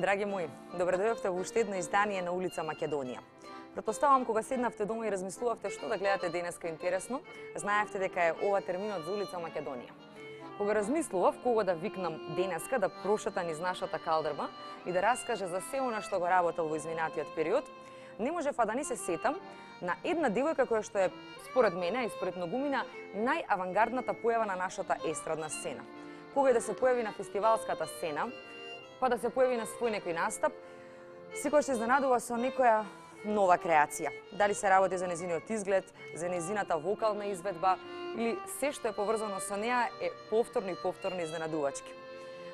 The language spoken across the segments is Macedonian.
Драги мои, добре дојдовте во уште едно издание на улица Македонија. Претпоставам кога седнавте дома и размислувавте што да гледате денеска интересно, знаевте дека е ова терминот за улица Македонија. Кога размислував кого да викнам денеска да прошета низ нашата калдрма и да раскаже за се она што го работел во изминатиот период, не можев да не се сетам на една девојка која што е според мене и според многумина најавангардната појава на нашата естрадна сцена. Кога и да се појави на фестивалската сцена, па да се појави на свој некој настап, секој се изненадува со некоја нова креација. Дали се работи за незиниот изглед, за незината вокална изведба или се што е поврзано со неа е повторно изненадувачки.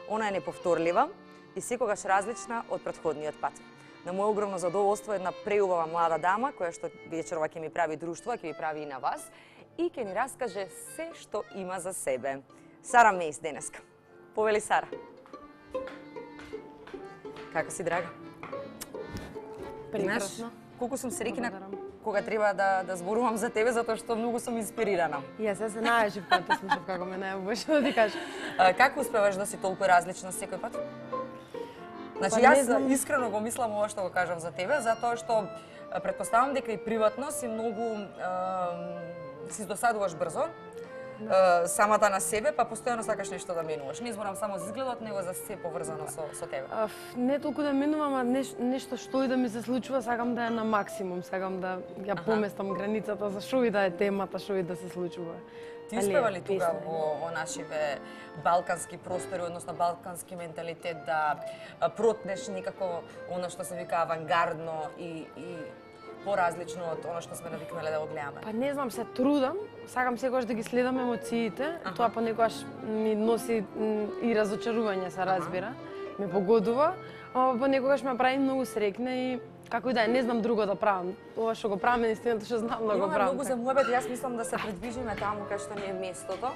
Она е неповторлива и секогаш различна од претходниот пат. На моје огромно задоволство една преубава млада дама која што вечерова ќе ми прави друштво, ќе ви прави и на вас и ќе ни раскаже се што има за себе. Сара Мејс денеска. Повели Сара. Како си, драга? Прекрасно. Колку сум среќна кога треба да зборувам за тебе, затоа што многу сум инспирирана. Јас се најажив кога те слушав како ме најубаваш да ти кажам. Како успеваш да си толку различна секој пат? Значи, јас искрено го мислам ова што го кажам за тебе, затоа што претпоставам дека и приватно си многу си досадуваш брзо, самата на себе, па постојано сакаш нешто да менуваш. Не зборам само за изгледот, него за се поврзано со тебе. Не толку да менувам, а нешто што и да ми се случува, сакам да е на максимум, сакам да ја поместам границата за што и да е темата, што и да се случува. Ти успева ли тука во нашиве балкански простори, односно балкански менталитет да протнеш некако она што се вика авангардно и поразлично од она што сме навикнале да го гледаме? Па не знам, се трудам, сакам секогаш да ги следам емоциите, тоа понекогаш ми носи и разочарување, се разбира, ме погодува, ама понекогаш ме прави многу среќна и како и да е, не знам друго да правам. Ова што го правам е наистина што знам да го правам. Имаме многу за муабет, јас мислам да се придвижиме таму кај што ни е местото.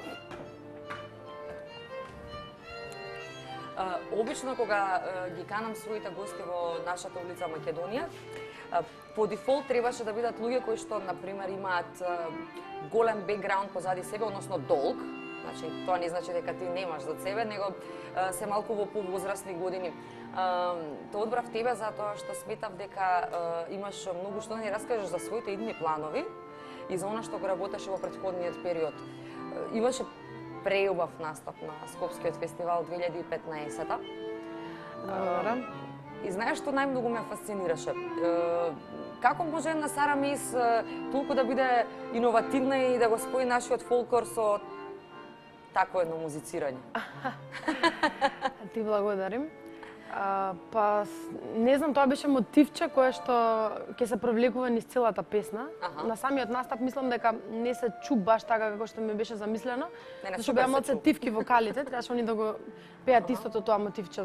Обично кога ги канам своите гости во нашата улица Македонија, по дефолт требаше да бидат луѓе кои што, например, имаат голем бекграунд позади себе, односно долг. Значи, тоа не значи дека ти немаш за себе, него се малку во повозрастни години. Те одбрав тебе затоа што сметав дека имаш многу што да ни раскажеш за своите идни планови и за она што го работеше во претходниот период. Имаше преубав настап на Скопскиот фестивал 2015-та. И знаеш што најмногу ме фасцинираше? Како може една Сара Мејс толку да биде иновативна и да го спои нашиот фолклор со такво едно музицирање? Ти благодарим. Па, не знам, тоа беше мотивче кое што ќе се провлекува низ целата песна. На самиот настап мислам дека не се чу баш така како што ми беше замислено, зашто беа малце тивки вокалите, требаше они да го пеат истото тоа мотивче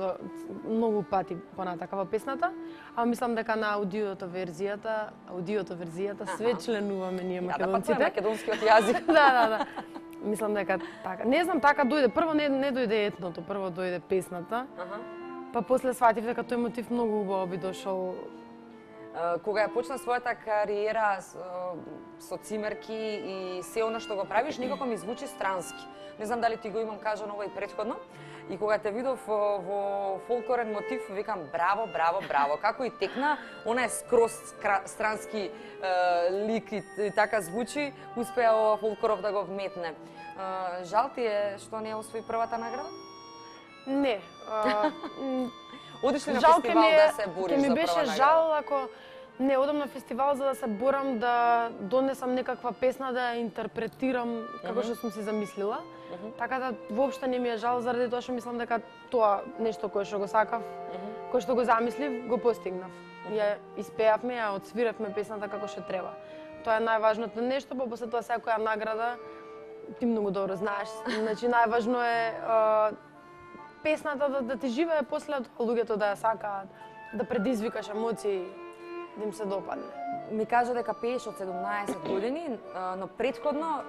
многу пати понатака во песната, а мислам дека на аудиото верзијата све членуваме ние македонците. Да, па тоа е македонскиот јазик. Да. Мислам дека така. Не знам, така дојде. Прво не дојде етното, прво дојде песната. Па после сватив дека тој мотив многу убаво би дошол. Кога ја почна својата кариера со цимерки и се она што го правиш, некако ми звучи странски. Не знам дали ти го имам кажано ова и претходно. И кога те видов во фолклорен мотив, викам браво. Како и текна, она е скроз странски лик и така звучи, успеа ова Фолкоров да го вметне. Жал ти е што не ја освои првата награда? Не. Одиш ли на фестивал да се бориш за прва награда? Ке ми беше жал ако не одам на фестивал за да се борам да донесам некаква песна да ја интерпретирам како што сум си замислила. Така да воопшто не ми е жал заради тоа што мислам дека тоа нешто кое што го сакав, кое што го замислив, го постигнав. Ја испеавме, ја отсвиравме песната како што треба. Тоа е најважното нешто, па после тоа секоја награда ти многу добро знаеш. Значи најважно е песната да ти живее после тоа, луѓето да ја сакаат, да предизвикаш емоции, да им се допадне. Ми кажа дека пееш од 17 години, но претходно,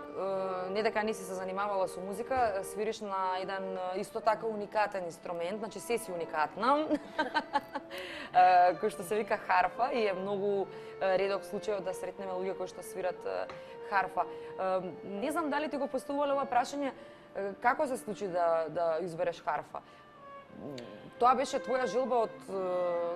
не дека не си се занимавала со музика, свириш на еден исто така уникатен инструмент, значи се си уникатна, кој што се вика харфа и е многу редок случај да сретнеме луѓе кои што свират харфа. Не знам дали ти го поставувале ова прашање, како се случи да избереш харфа? Тоа беше твоја желба од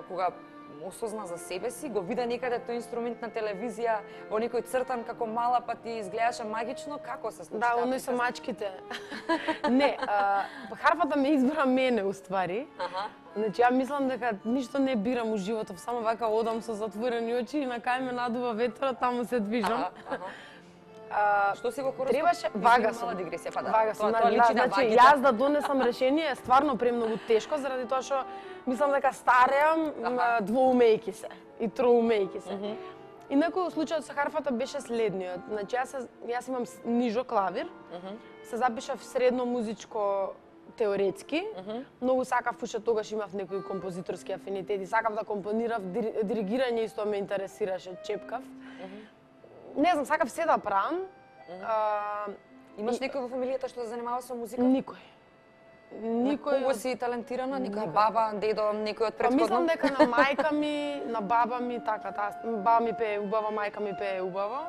кога осозна за себе си, го вида некаде тој инструмент на телевизија, во некој цртан како мала, па ти изгледаше магично, како се случи? Да, оној со мачките. Не, харфата ме избра мене, уствари. Значи, ја мислам дека ништо не бирам у животот, само вака одам со затворени очи и на кај ме надува ветрот, таму се движам. Што си во хороскоп? Требаше вага сум. Дигресија, па да. Вага сум, Тоа личи на значи вагите. јас да донесам решение е стварно премногу тешко заради тоа што мислам дека стареам двоумејки се и троумејки се. Инаку случајот со харфата беше следниот. Значи јас имам нижо клавир. Се запишав средно музичко теоретски. Многу сакав, пошто тогаш имав некои композиторски афинитети, сакав да компонирав, диригирање исто ме интересираше, чепкав. Не знам, сакав се да правам. Имаш некој во фамилијата што се занимава со музика? Никој. Кого си талентирана? Некоја баба, дедо, некој од претходно? Мислам дека на мајка ми, на баба ми, така, баба ми пее убаво, мајка ми пее убаво.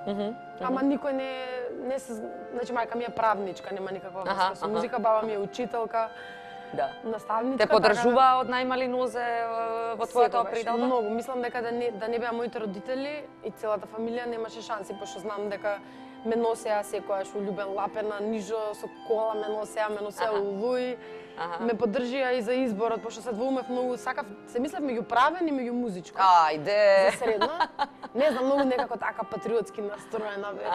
Ама никој не се, значи мајка ми е правничка, нема никаква врска со музика, баба ми е учителка. Да. Наставничка. Те поддржува од најмали нозе во твојата опредалба? Многу. Мислам дека да не беа моите родители и целата фамилија немаше шанси, пошто знам дека ме носеа секојаш у љубен лапена, нижо со кола ме носеа у Луи. Ме поддржија и за изборот, пошто се двоумев многу, сакав, се мислев меѓу правен и меѓу музичко. Ајде! За средно. Не знам, многу некако така патриотски настроена бев.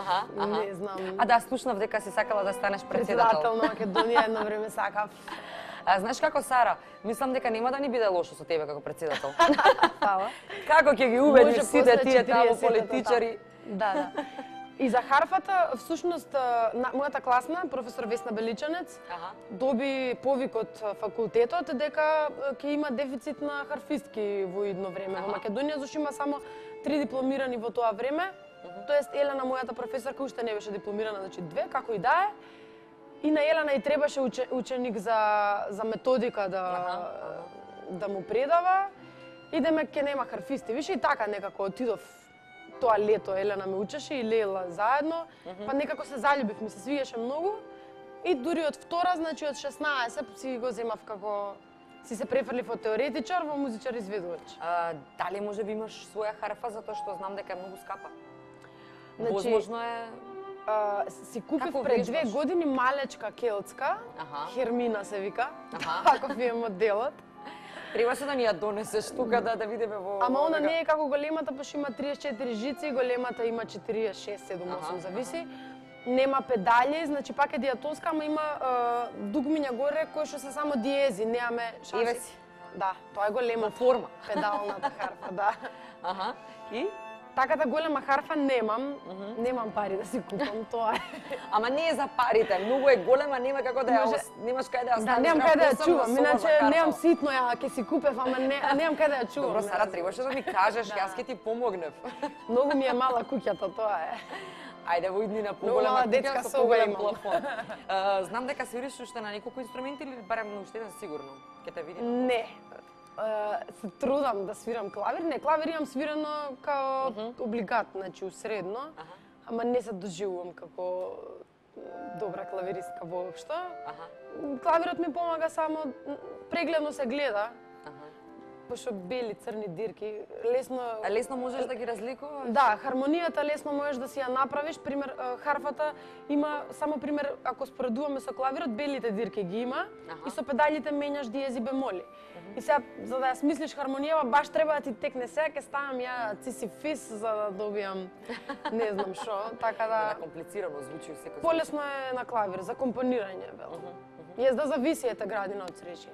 Не знам. А да, слушнав дека си сакала да станеш председател на Македонија, едно време сакав. Знаеш како, Сара, мислам дека нема да ни биде лошо со тебе како председател. Фала. Како ќе ги убедиш сите тие таму политичари? Да. И за харфата, всушност, мојата класна, професор Весна Беличанец, доби повик од факултетот дека ќе има дефицит на харфистки во идно време во Македонија, зашто има само 3 дипломирани во тоа време. Тоест, Елена, мојата професорка, уште не беше дипломирана, значи 2, како и да е. И на Елена и требаше ученик за методика да му предава. Идеме ке нема харфисти. Више и така некако отидов тоа лето, Елена ме учеше и Лела заедно, па некако се заљубив, ми се свиеше многу. И дури од втора, значи од 16 си го земав како си се префрлив од теоретичар во музичар изведувач. Дали може би имаш своја харфа затоа што знам дека е многу скапа? Значи, возможно е си купив пред 2 години малечка келтска, Хермина се вика, ако ви е моделот. Требаше да ни ја донесеш тука да видиме во... Ама она не е како големата, пошто има 34 жици, големата има 46, 7, 8, зависи. Нема педали, значи пак е диатонска, ама има дугмиња горе кои што се само диези, немаме шанси. Ивеси. Да, тоа е голема форма. Педалната харфа, да. И? Таката голема харфа немам, немам пари да си купам, тоа е. Ама не е за парите, многу е голема, нема како да ја немаш кај да ја ставиш. Да, немам кај да ја чувам, иначе немам ситно ја ќе си купев, ама немам кај да ја чувам. Добро, Сара, требаше да ми кажеш, јас ќе ти помогнев. Многу ми е мала куќата, тоа е. Ајде во иднина поголема детска со соба поголем имам. плафон. Знам дека свириш уште на неколку инструменти или барем на уште еден сигурно? Ќе те видим. Не. Се трудам да свирам клавир. Не, клавир имам свирено као облигат, значи усредно, ама не се доживувам како добра клавиристка воопшто. Клавирот ми помага само, прегледно се гледа, пошто бели, црни дирки, лесно... Лесно можеш да ги разликуваш? Да, хармонијата лесно можеш да си ја направиш. Пример, харфата има, само пример, ако споредуваме со клавирот, белите дирки ги има и со педалите менјаш диези бемоли. И сега, за да ја смислиш хармонијава, баш треба да ти текне. Сега ќе ставам ја цисифис за да добијам не знам шо, така да... Комплицирано звучи секој. Полесно е на клавир, за компонирање, вел. Јас да зависи ете градина од сречи.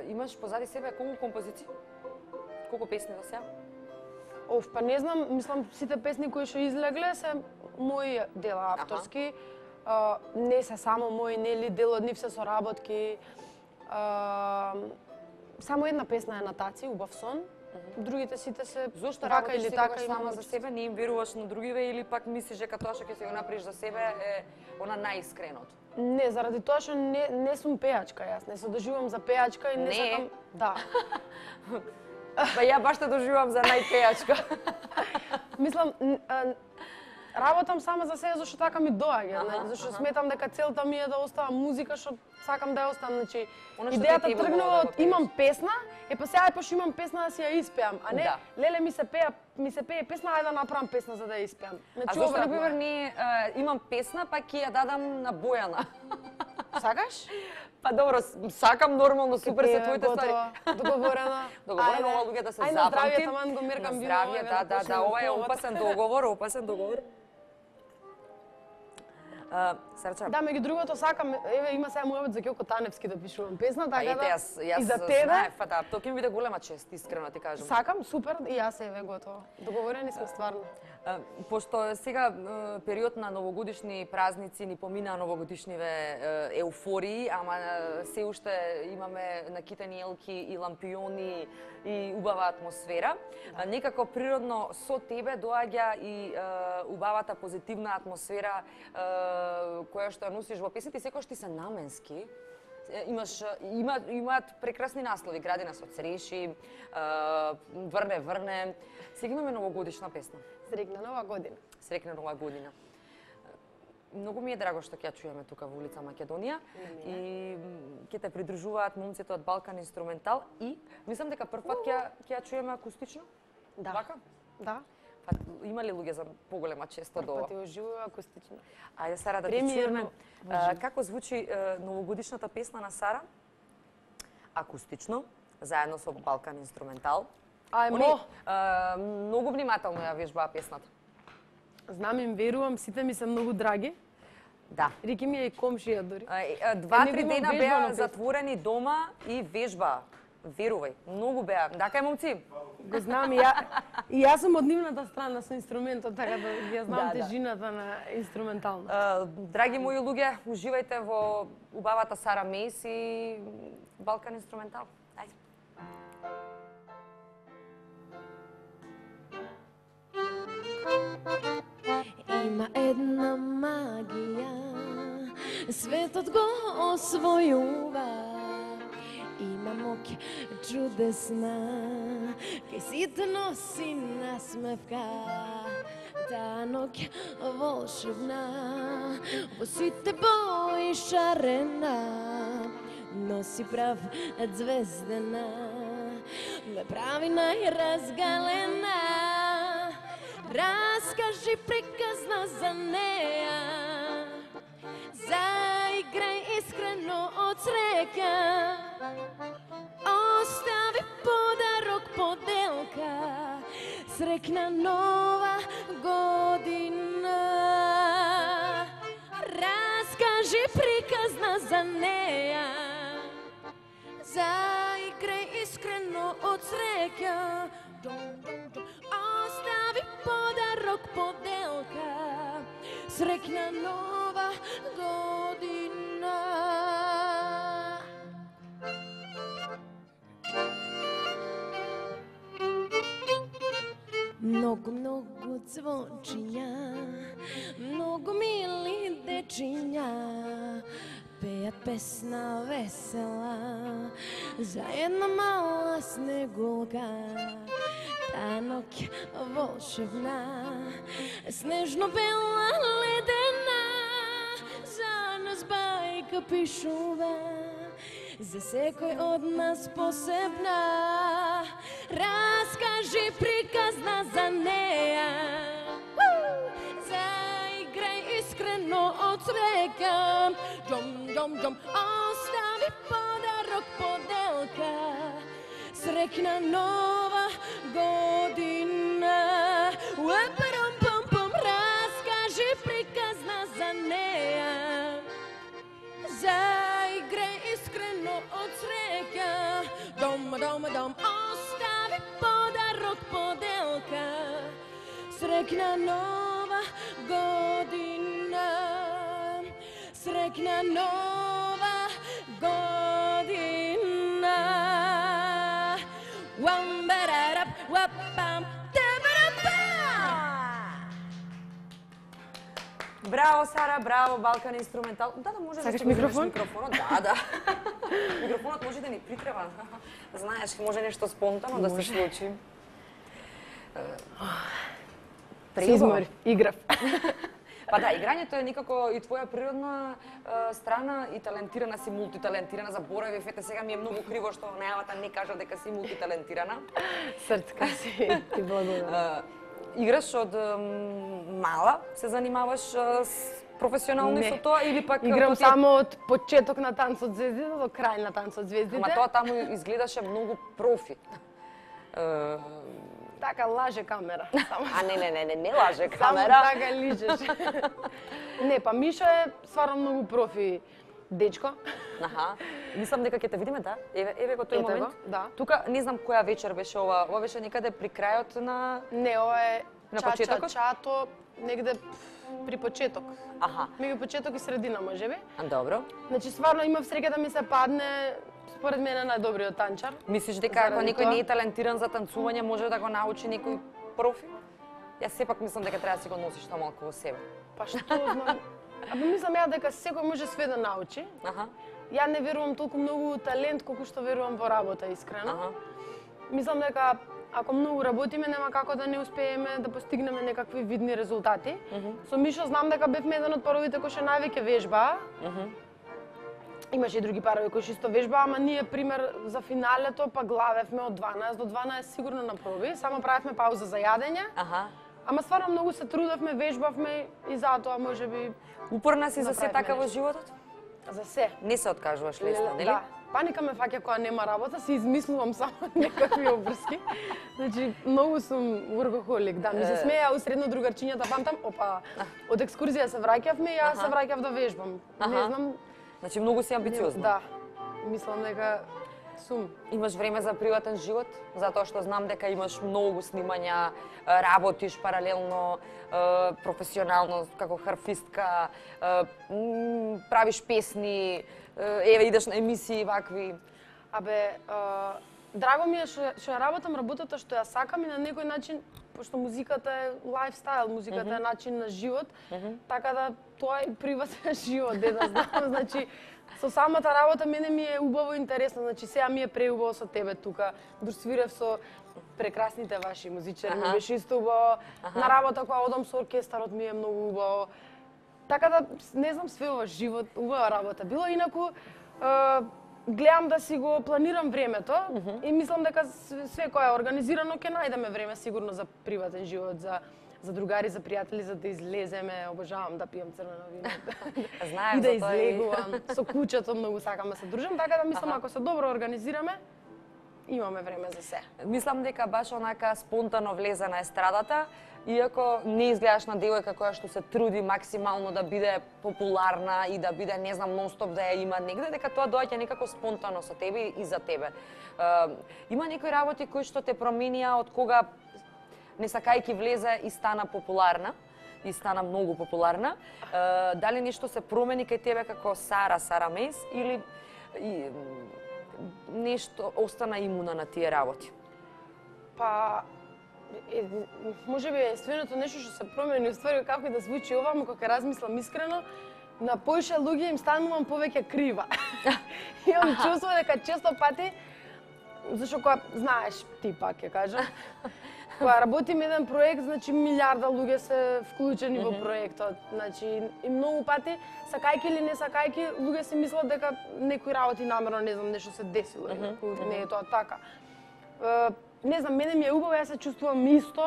Имаш позади себе колку композиции? Колку песни до сега? Па не знам, мислам сите песни кои што излегле се мои дела авторски. Не се само мои, нели, дел од нив се соработки. Само една песна е на Таци, Убав сон. Другите сите се Зошто така или така сама за себе, не им веруваш на другиве или пак мислиш дека тоа што ќе се го направиш за себе е она најискреното? Не, заради тоа што не сум пејачка јас, не се доживам за пејачка и не сакам... Да. Па ја баш те доживам за најпејачка. Мислам, работам сама за себе зашто така ми доаѓа, зашто сметам дека целта ми е да оставам музика што сакам да ја оставам, значи идејата тргнува од имам песна, па сега пошто имам песна да си ја испеам, а не леле ми се пее песна, ајде да направам песна за да ја испеам. А зошто например не имам песна па ќе ја дадам на Бојана? Сакаш? Па добро, сакам нормално, супер се твоите ствари. Договорено. Договорено, ова луѓе да се запамти. Ајде, здравје, таман го меркам вино. Здравје, да, ова е опасен договор. Сарча. Да, меѓу другото сакам, еве има сега мојот за Ѓоко Таневски да пишувам песна, така да и за тебе. Да, тоа ќе ми биде голема чест, искрено ти кажам. Сакам, супер, и јас еве готово. Договорени сме стварно. Пошто сега период на новогодишни празници ни поминаа новогодишниве еуфории, ама се уште имаме накитани елки и лампиони и убава атмосфера. Некако природно со тебе доаѓа и убавата позитивна атмосфера која што ја носиш во песните, секогаш ти се наменски. Имаат прекрасни наслови, Гради нас од цреши, Врне. Сега имаме новогодишна песна. Срекна нова година. Срекна нова година. Многу ми е драго што ќе ја чуеме тука во улица Македонија и ќе те придружуваат момците од Балкан Инструментал и мислам дека прв пат ќе ја чуеме акустично. Да. Вака? Да. Па има ли луѓе за поголема чест од ова? Прв пат ја уживува акустично. Ајде Сара да ти чуеме како звучи новогодишната песна на Сара акустично заедно со Балкан Инструментал. Ајмо! Многу внимателно ја вежбаа песната. Знам, им верувам, сите ми се многу драги. Да. Рики ми е и комшија дури. 2-3 дена беа затворени дома и вежбаа. Верувај, многу беа. Дака е момци. Го знам и јас сум од нивната страна со инструментот, така да ја знам тежината на инструментално. Драги мои луѓе, уживајте во убавата Сара Мейс и Балкан Инструментал. Ајде. Има една магија, светот го освојува. Има моќ чудесна, кај сите носи насмевка. Таа ноќ волшебна, во сите бои шарена, носи прав звездена, ме прави најразгалена. Раскажи приказна за неја, заиграј искрено од среќа, остави подарок поделка, срекна нова година. Раскажи приказна за неја, заиграј искрено од среќа, остави подарок поделка, срекна нова година. Многу цвочиња, многу мили дечиња, пеат песна весела за една мала снегулка. Таа ноќ волшебна, снежно бела ледена, за нас бајка пишува, за секој од нас посебна. Раскажи приказна за неја, заиграј искрено од среќа, џом, остави подарок поделка, срекна нова година. Пам, раскажи приказна за неја, заиграј искрено од среќа, дом, остави подарок поделка, Srećna nova godina, srećna nova godina. Wambararap, wapam, tabarapa. Браво, Сара, браво, Балкан инструментал. Да, може Сакаш да микрофон? микрофонот. Да. Микрофонот може да ни притреба. Знаеш, може нешто спонтано да се случи. Се измори, играв. Па да, играњето е некако и твоја природна страна и талентирана си, мултиталентирана. Заборавив, ете сега ми е многу криво што најавата не кажа дека си мултиталентирана. Срцка си, ти благодарам. Играш од мала, се занимаваш професионално со тоа или пак Играм само од почеток на Танцот звездите до крај на Танцот звездите. Ама тоа таму изгледаше многу профи. Така лаже камера. Само А не лаже само камера. така лижеш. Не, па Мишо е стварно многу профи дечко. Аха. Мислам дека ќе те видиме, да? Еве го тој Ете момент. го, да. Тука не знам која вечер беше ова. Ова беше некаде при крајот на Не, ова е На чача, почетокот? чато, негде при почеток. Аха. Меѓу почеток и средина, можеби. Добро. Значи, стварно имав среќа да ми се падне, според мене, најдобриот танчар. Мислиш дека ако Заради некој тоа? не е талентиран за танцување, може да го научи некој профи? Јас сепак мислам дека треба да си го носиш тоа малку во себе. Па што знам? Абе мислам ја дека секој може све да научи. Аха. Ја не верувам толку многу во талент колку што верувам во работа, искрено. Аха. Мислам дека ако многу работиме, нема како да не успееме да постигнеме некакви видни резултати. Со Мишо знам дека бевме еден од паровите кои што највеќе вежбаа. Имаше и други парови кои што исто вежбаа, ама ние, пример, за финалето па главевме од 12 до 12 сигурно на проби. Само правевме пауза за јадење. Аха. Ама стварно многу се трудевме, вежбавме и затоа можеби Упорна си за се Направивме така во нешто. животот? за се. Не се откажуваш лесно, нели? Да. Паника ме фаќа кога нема работа, си измислувам само некакви обврски. Значи, многу сум workaholic, да. Ми се смеја у средно другарчињата, памтам, опа, од екскурзија се враќавме и јас се враќав да вежбам. Не знам, Значи многу си амбициозна. да. Мислам дека сум. Имаш време за приватен живот, затоа што знам дека имаш многу снимања, работиш паралелно, професионално како харфистка, правиш песни, еве идеш на емисии вакви. Абе, драго ми е што ја работам работата што ја сакам и на некој начин, пошто музиката е лајфстайл, музиката е начин на живот, така да тоа е приватен живот, де да знам, значи со самата работа мене ми е убаво и интересно, значи сега ми е преубаво со тебе тука, досвирев со прекрасните ваши музичари, ми беше исто убаво, на работа кога одам со оркестарот ми е многу убаво. Така да, не знам, све ова живот, убава работа било, инаку гледам да си го планирам времето и мислам дека све кое е организирано ќе најдеме време сигурно за приватен живот, за другари, за пријатели, за да излеземе, обожавам да пијам црвено вино. Знаем И да за тоа и- излегувам. Со куќето многу сакам да се дружам, така да мислам ако се добро организираме, имаме време за се. Мислам дека баш онака спонтано влезе на естрадата, иако не изгледаш на девојка која што се труди максимално да биде популарна и да биде, не знам, нон-стоп да ја има негде, дека тоа доаѓа некако спонтано со тебе и за тебе. Има некои работи кои што те променија од кога не сакајки влезе и стана популарна, и стана многу популарна. Дали нешто се промени кај тебе како Сара Мейс или нешто остана имуна на тие работи? Па, можеби единственото нешто што се промени, уствари како и да звучи ова, но кога размислам искрено, на поише луѓе им станувам повеќе крива. Имам чувство дека често пати, зашто кога, знаеш, ти пак ќе кажам, кога работим еден проект, значи милиарда луѓе се вклучени во проектот. Значи, и многу пати, сакајки или не сакајки, луѓе си мислат дека некои работи намерно, не знам, нешто се десило, инаку не е тоа така. Не знам, мене ми е убаво, јас се чувствувам исто.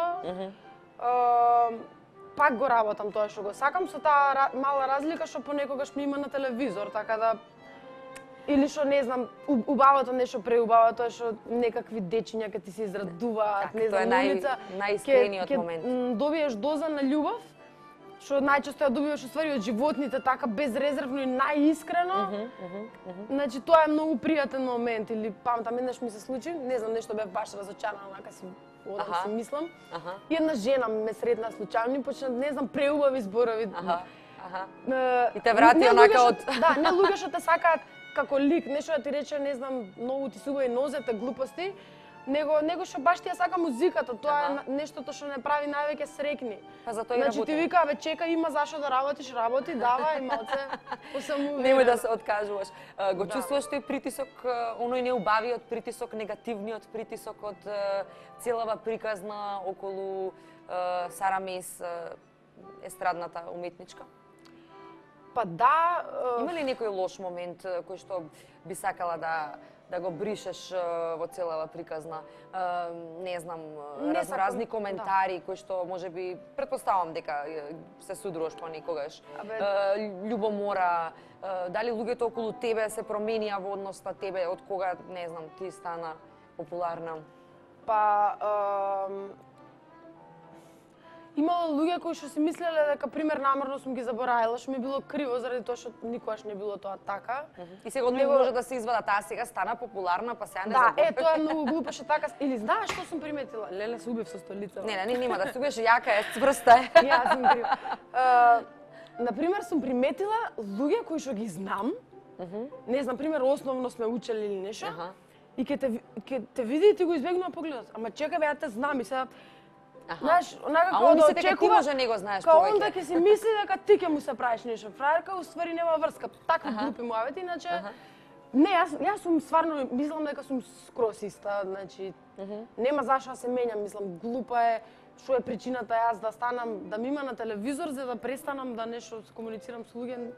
Пак го работам тоа што го сакам, со таа мала разлика што понекогаш ми има на телевизор, така да или што не знам, убавото нешто преубаво, тоа што некакви дечиња кога ти се израдуваат, не Тоа е знам, на улица, најискрениот момент. добиеш доза на љубов, што најчесто ја добиваш уствари од животните, така безрезервно и најискрено. Значи тоа е многу пријатен момент или памтам еднаш ми се случи, не знам, нешто бев баш разочарана, онака си одам си мислам. И една жена ме сретна случајно и почна, не знам, преубави зборови. И те врати онака од... Да, не луѓе што те сакаат како лик, нешто да ти рече, не знам, многу ти суба и нозете, глупости, него што баш ти ја сака музиката, тоа е нештото што не прави највеќе срекни. Па затоа и работи. Значи ти вика, бе, чека, има зашо да работиш, работи, давај, малце, посамуверена. Немој да се откажуваш. Го чувствуваш тој притисок, оној неубавиот притисок, негативниот притисок од целава приказна околу Сара Мес, естрадната уметничка? Па да... Има ли некој лош момент кој што би сакала да го бришеш во целава приказна? Не знам, разни коментари кои што можеби, предпоставам дека се судруваш понекогаш. Љубомора, дали луѓето околу тебе се променија во однос на тебе од кога, не знам, ти стана популарна? Па... Имало луѓе кои што си мислеле дека пример намерно сум ги заборавила, што ми било криво заради тоа што никогаш не било тоа така. И сега може да се извада, таа сега стана популарна, па сега не заборава. Да, тоа е многу глупо што така. Или знаеш што сум приметила? Леле, се убив со столица. Не, нема да се убиеш, јака е, цврста е. Јас сум крива. Например, сум приметила луѓе кои што ги знам, не знам, пример, основно сме учели или нешто, и ќе те види и ти го избегнува погледот. Ама чекај, бе, ја те знам и сега знаеш, онака кога да очекува, може не го знаеш повеќе. Као онда ќе си мисли дека ти ќе му се правиш нешто. Фраерка, уствари нема врска. Такви глупи муавети, иначе... Не, јас сум стварно, мислам дека сум скрос иста, значи... Нема зашо да се менјам, мислам, глупа е, што е причината јас да станам, да ми има на телевизор, за да престанам да нешто комуницирам со луѓе.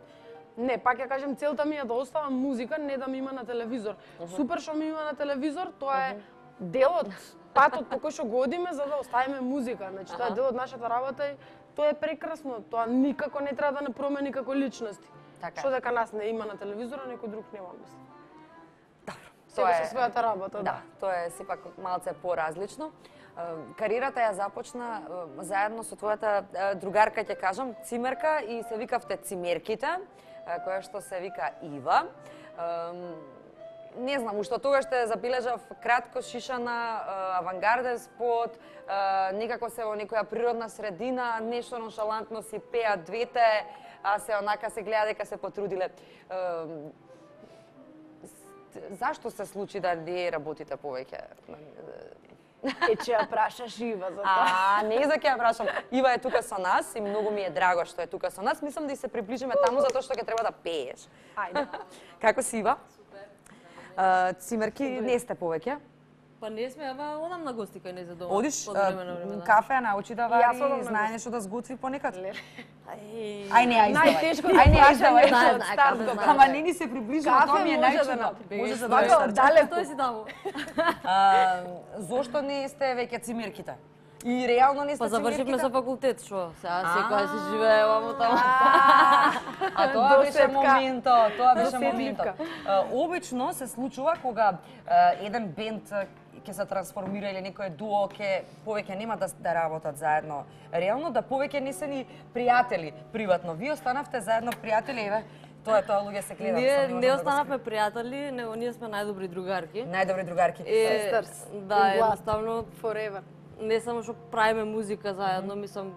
Не, пак ја кажем, целта ми е да оставам музика, не да ми има на телевизор. Супер што ми има на телевизор, тоа е делот, патот по кој што го одиме за да оставиме музика. Значи, тоа е дел од нашата работа и тоа е прекрасно. Тоа никако не треба да не промени како личности. Што дека нас не има на телевизора, некој друг нема, мислам. Добро. Тоа е со својата работа, да. Тоа е сепак малце поразлично. Кариерата ја започна заедно со твојата другарка, ќе кажам, цимерка, и се викавте Цимерките, која што се вика Ива. Не знам, уште тогаш те забележав кратко шишана, авангарден спот, некако се во некоја природна средина, нешто ноншалантно си пеат двете, а се онака се гледа дека се потрудиле. Зашто се случи да не работите повеќе? Ќе ја прашаш Ива за тоа. Не за ќе ја прашам. Ива е тука со нас и многу ми е драго што е тука со нас. Мислам да и се приближиме таму затоа што ќе треба да пееш. Ајде. Како си, Ива? Цимерки не сте повеќе? Па не сме, ама одам на гости кај не за дома. Одиш, кафе ја научи да вари, знае нешто да сготви понекад? Ај не, ај најтешко издавај. Ама не ни се приближува, тоа ми е најчудно. Може да дојдеш далеко. Тој си таму. Зошто не сте веќе Цимерките? И реално не сте Цимерките? Па завршивме со факултет, што? Сега секоја си живее ваму таму. А тоа беше моментот, Обично се случува кога еден бенд ќе се трансформира или некој дуо ќе повеќе нема да работат заедно. Реално да повеќе не се ни пријатели приватно. Вие останавте заедно пријатели, еве. Тоа луѓе се гледат. Не останавме пријатели, него ние сме најдобри другарки. Најдобри другарки. Sisters. Да, едноставно forever. Не само што правиме музика заедно, мислам,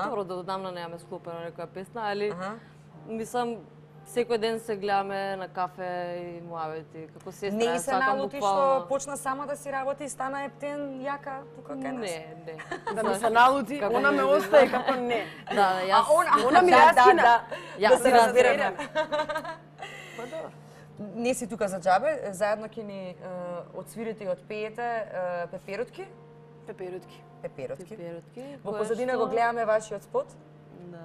добро да одамна немаме склопена некоја песна, али мислам секој ден се гледаме на кафе и муавети, како сестра. Не се налути што почна сама да си работи и стана ептен јака тука кај нас? Не. Да ми се налути, она ме остае како не. Да, јас... Она ми јаскина. Да се разбереме. Па добро. Не си тука за џабе, заедно ќе ни отсвирите и отпеете Пеперутки. Пеперутки. Во позадина го гледаме вашиот спот.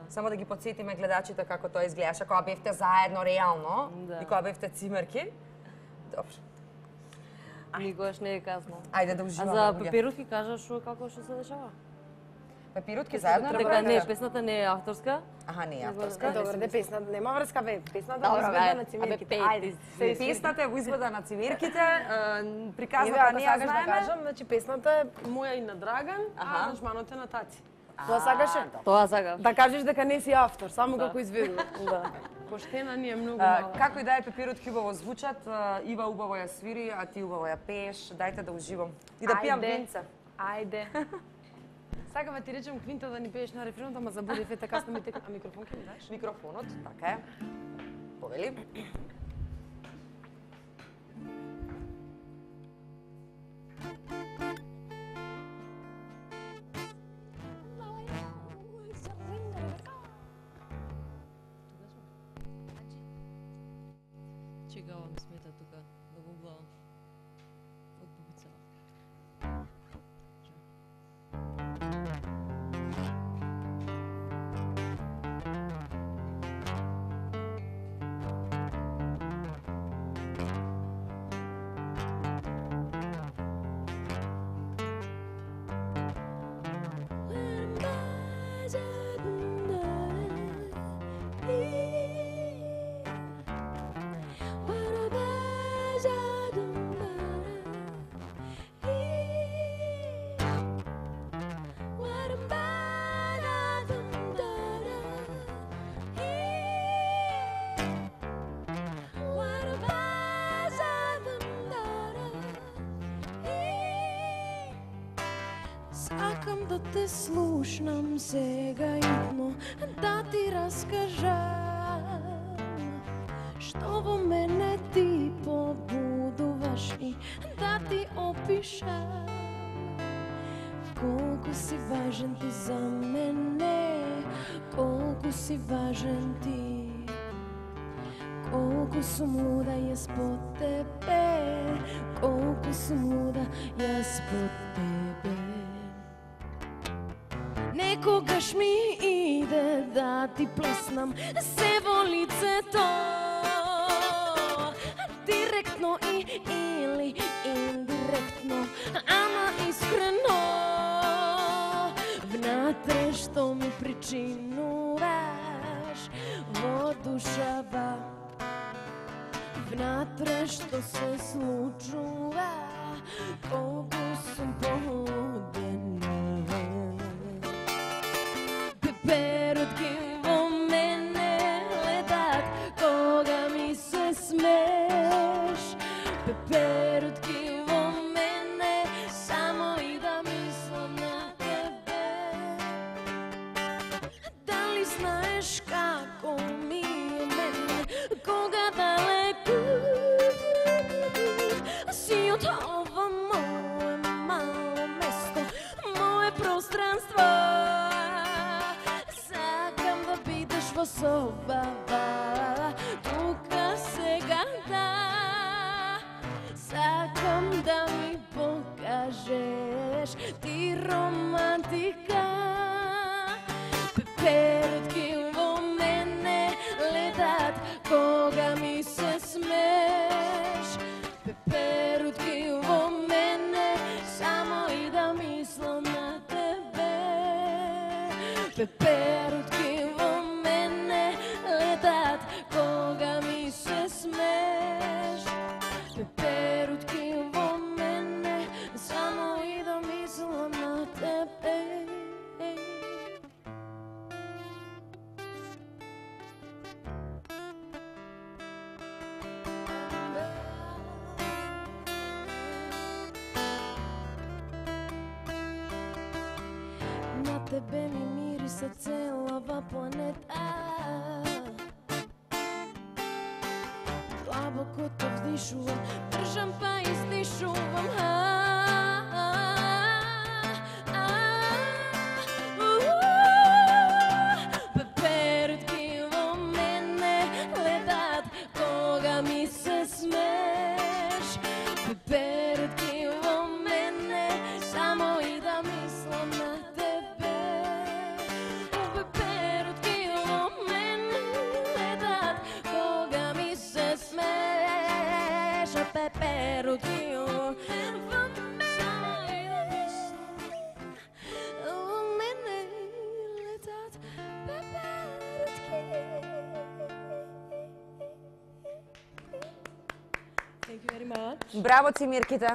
Само да ги подсетиме гледачите како тоа изгледаше кога бевте заедно реално и кога бевте Цимерки. Добро. Никогаш не е казно. Ајде да уживаме. А за Пеперутки кажаш како што се дешава? Пеперутки заедно дека не, песната не е авторска. Аха, не е авторска. Добро, де песната нема врска, бе. Песната е изведа на Цимерките. Ајде. Песната е во изведа на Цимерките. Приказната не ја знаеме. Да кажам, значи песната е моја и на Драган, а аранжманот е на Таци. Тоа сакаше? Тоа сакаш. Да кажеш дека не си автор, само како изведува. Да. Поштена ни е многу мала. Како и да е, Пеперутки убаво звучат, Ива убаво ја свири, а ти убаво ја пееш. Дајте да уживам. И да пијам винце. Ајде. Сакам да ти речем Квинта да ни пееш на рефренот, ама забудев е така ми текна. А микрофон ќе ми даш? Микрофонот, така е. Повели. Чекава ми смета тука да го гледам од пубицата. Сакам да те слушнам сега идно, да ти раскажам што во мене ти побудуваш и да ти опишам колку си важен ти за мене, колку си важен ти, колку сум луда јас по тебе, колку сум луда јас по тебе. Некогаш ми иде да ти плеснам се во лицето, директно или индиректно, ама искрено. Внатре што ми причинуваш во душава, внатре што се случува, колку сум полудена. Перутки во мене летат кога ми се смееш. Перутки во мене само и да мислам на тебе. Дали знаеш како ми е мене кога далеку си од ова мое мало место, мое пространство. Во собава, тука сега да, сакам да ми покажеш ти романтика. Перутки во мене летат кога ми се смееш. Перутки во мене само и да мислам на тебе. Перутки во мене летат кога ми се смееш. Перутки во мене само и да мислам на тебе. На тебе ми мириса целава планета. Длабоко те вдишувам, држам па издишувам. Перутки во мене летат кога ми се смееш. Перутки во мене само и да мислам на тебе. Перутки во мене летат кога ми се смееш. Перутки во мене летат. Thank you very much. Браво ти, Мирките.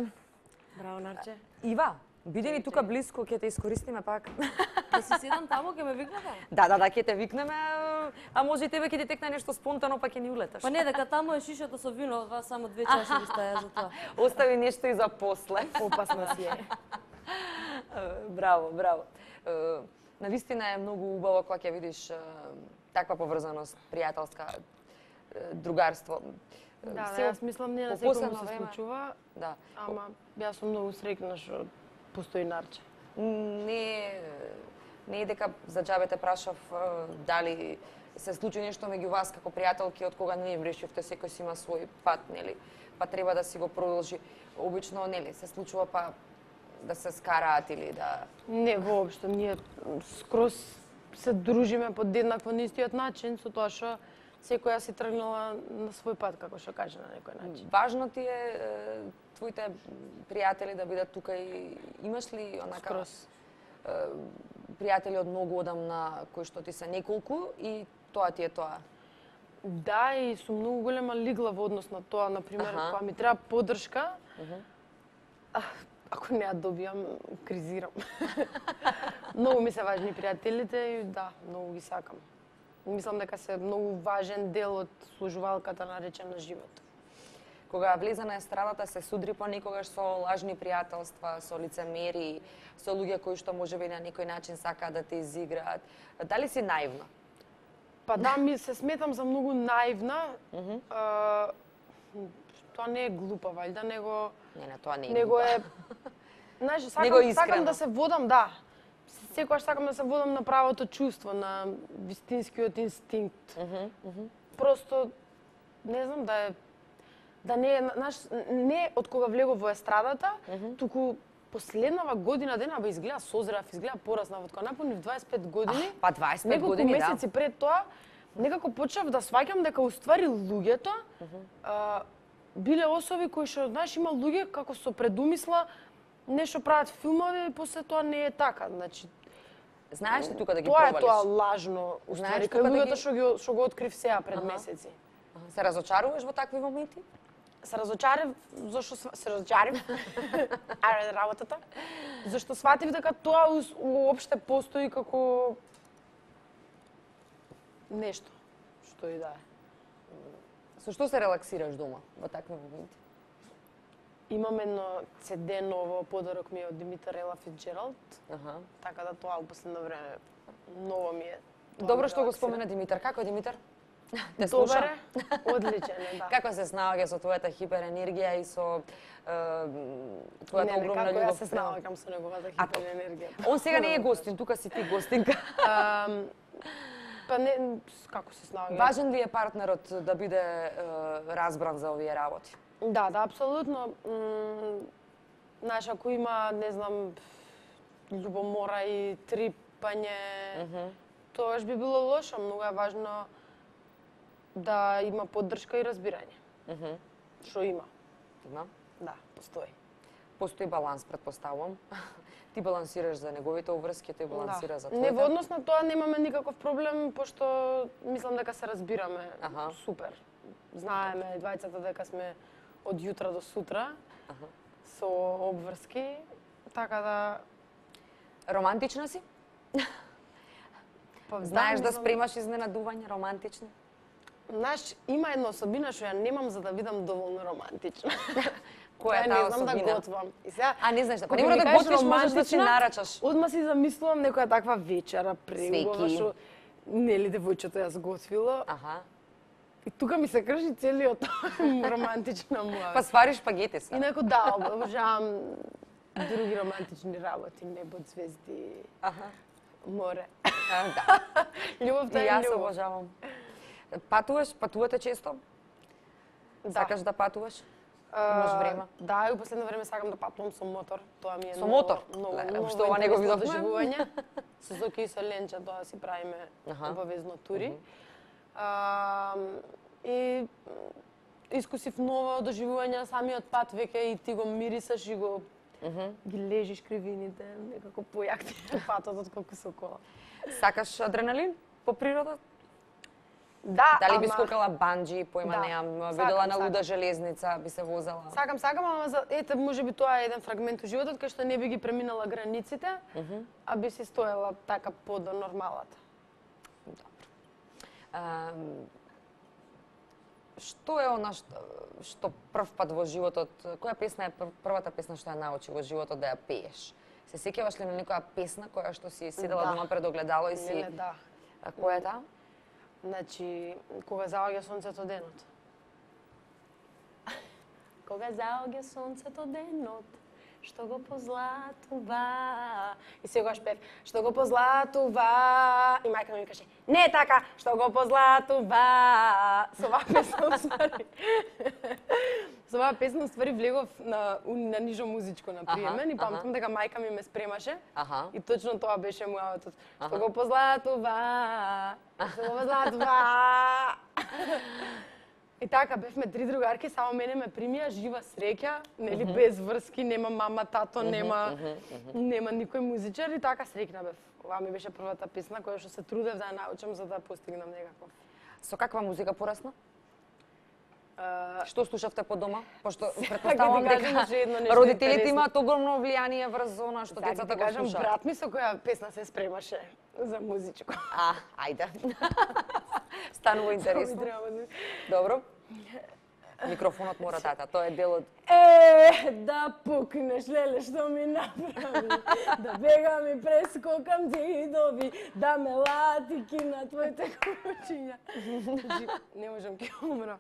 Браво, Нарче. Ива, биде ни тука блиско, ќе те искористиме пак. Да си седам таму, ќе ме викнете? Да, ќе те викнеме, а може и тебе ќе ти текне нешто спонтано, па ќе ни улеташ. Па не, дека таму е шишето со вино, два само 2 чаши ви стаја за тоа. Остави нешто и за после. Опасна си е. Браво, браво. Навистина е многу убаво кога ќе видиш таква поврзаност, пријателска, другарство. Да, јас мислам не на секој се случува, ама јас сум многу среќна што постои Нарче. Не е дека за џабе те прашав дали се случи нешто меѓу вас како пријателки од кога не решивте секој си има свој пат, нели? Па треба да си го продолжи. Обично, нели, се случува па да се скараат или да... Не, воопшто, ние скроз се дружиме по еднакво на истиот начин, со тоа што секоја си тргнала на свој пат, како што каже на некој начин. Важно ти е твоите пријатели да бидат тука и имаш ли онака пријатели од многу одамна кои што ти се неколку и тоа ти е тоа? Да, и сум многу голема лигла во однос на тоа, например, кога ми треба поддршка, ако не ја добијам, кризирам. Многу ми се важни пријателите и да, многу ги сакам. Мислам дека се многу важен дел од служувалката наречена живот. Кога влезе на естрадата, се судри понекогаш со лажни пријателства, со лицемери, со луѓе кои што можеби на некој начин сакаат да те изиграат. Дали си наивна? Па да, ми се сметам за многу наивна. Тоа не е глупа, валјда, него... Не, тоа не е него глупа. Знаеш, искрено. сакам да се водам, да. Секогаш сакам да се водам на правото чувство, на вистинскиот инстинкт. Просто, не знам, да не е, знаеш, не од кога влегов во естрадата, туку последнава година дена изгледа созрев, изгледа пораснав, од кога напунив 25 години. Па 25 години, да. Неколку месеци пред тоа, некако почнав да сваќам дека уствари луѓето биле особи кои што, знаеш, има луѓе како со предумисла нешто прават филмови и после тоа не е така. Значи, знаеш ли тука да ги тоа провалиш? Тоа е тоа лажно, уствари, кај луѓето што го открив сега пред месеци. Се разочаруваш во такви моменти? Се разочарев, зашто се разочарив. Аре работата. Зашто сватив дека тоа уопште постои како нешто што и да е. Со што се релаксираш дома во такви моменти? Имам едно CD ново, подарок ми е од Димитар Ела Фицџералд. Така да тоа во последно време ново ми е. Добро што го спомена Димитар. Како е Димитар? Те слуша? Добре, одличен е, да. Како се снаоѓа со твојата хиперенергија и со твојата огромна љубов? Како ја се снаоѓам со неговата хиперенергија? Он сега не е гостин, тука си ти гостинка. Па не, како се снаоѓа? Важен ли е партнерот да биде разбран за овие работи? Да, апсолутно. Знаеш, ако има, не знам, љубомора и трипање, тоа би било лошо. Многу е важно да има поддршка и разбирање. Што има? Има? Да, постои. Постои баланс, претпоставувам. Ти балансираш за неговите обврски, тој балансира за твоите. Не, во однос на тоа немаме никаков проблем, пошто мислам дека се разбираме супер. Знаеме двајцата дека сме од јутра до сутра со обврски, така да... Романтична си? Знаеш да спремаш изненадување романтични? Знаеш, има една особина што ја немам за да видам доволно романтична. Која е таа особина? Не знам да готвам. И сега, не знаеш, па не мора да готвиш, можеш да си нарачаш. Одма си замислувам некоја таква вечера преубава што нели девојчето ја сготвило. И тука ми се крши целиот романтична муа. Па свариш шпагети се. И некој да, обожавам други романтични работи, небо, звезди, море. Да. Љубовта е љубов. И јас љубов. обожавам. Патувате често? Сакаш да патуваш? Имаш време? Да, и во последно време сакам да патувам со мотор. Тоа ми е со мотор? Многу што ова не го видовме. Доживување. Со Зоки и со Ленча тоа си правиме обавезно тури. И искусив ново доживување, самиот пат веќе и ти го мирисаш и го ги лежиш кривините, некако појак ти е патот отколку со кола. Сакаш адреналин по природа? Да, дали би скокала банџи, појма неам, видела на луда железница, би се возела? Сакам, ама ете, можеби тоа е еден фрагмент од животот кај што не би ги преминала границите, а би си стоела така под нормалата. Добро. Што е она што прв пат во животот, која песна е првата песна што ја научи во животот да ја пееш? Се сеќаваш ли на некоја песна која што си седела дома пред огледало и си... Да. Која е таа? Значи, кога заоѓа сонцето денот. Кога заоѓа сонцето денот, што го позлатува. И сегаш пев, што го позлатува. И мајка ми каже, не е така, што го позлатува. Со оваа песна уствари. Со оваа песна уствари влегов на нижо музичко на приемен и памтам дека мајка ми ме спремаше. И точно тоа беше муаватот. Што го позлатува. Што го позлатува. И така, бевме 3 другарки, само мене ме примија, жива среќа, нели, без врски, нема мама, тато, нема никој музичар и така среќна бев. Ова ми беше првата песна која што се трудев да ја научам за да постигнам некако. Со каква музика порасна? Што слушавте по дома? Пошто претпоставувам дека родителите имаат огромно влијание врз она што децата го слушаат. Брат ми со која песна се спремаше за музичко. Ајде. Станува интересно. Добро. Микрофонот мора тата, тоа е дел од... Да пукнеш, леле, што ми направи, да бегам и прескокам зидови, да ме латики на твоите кучиња. Не можам ке умрам.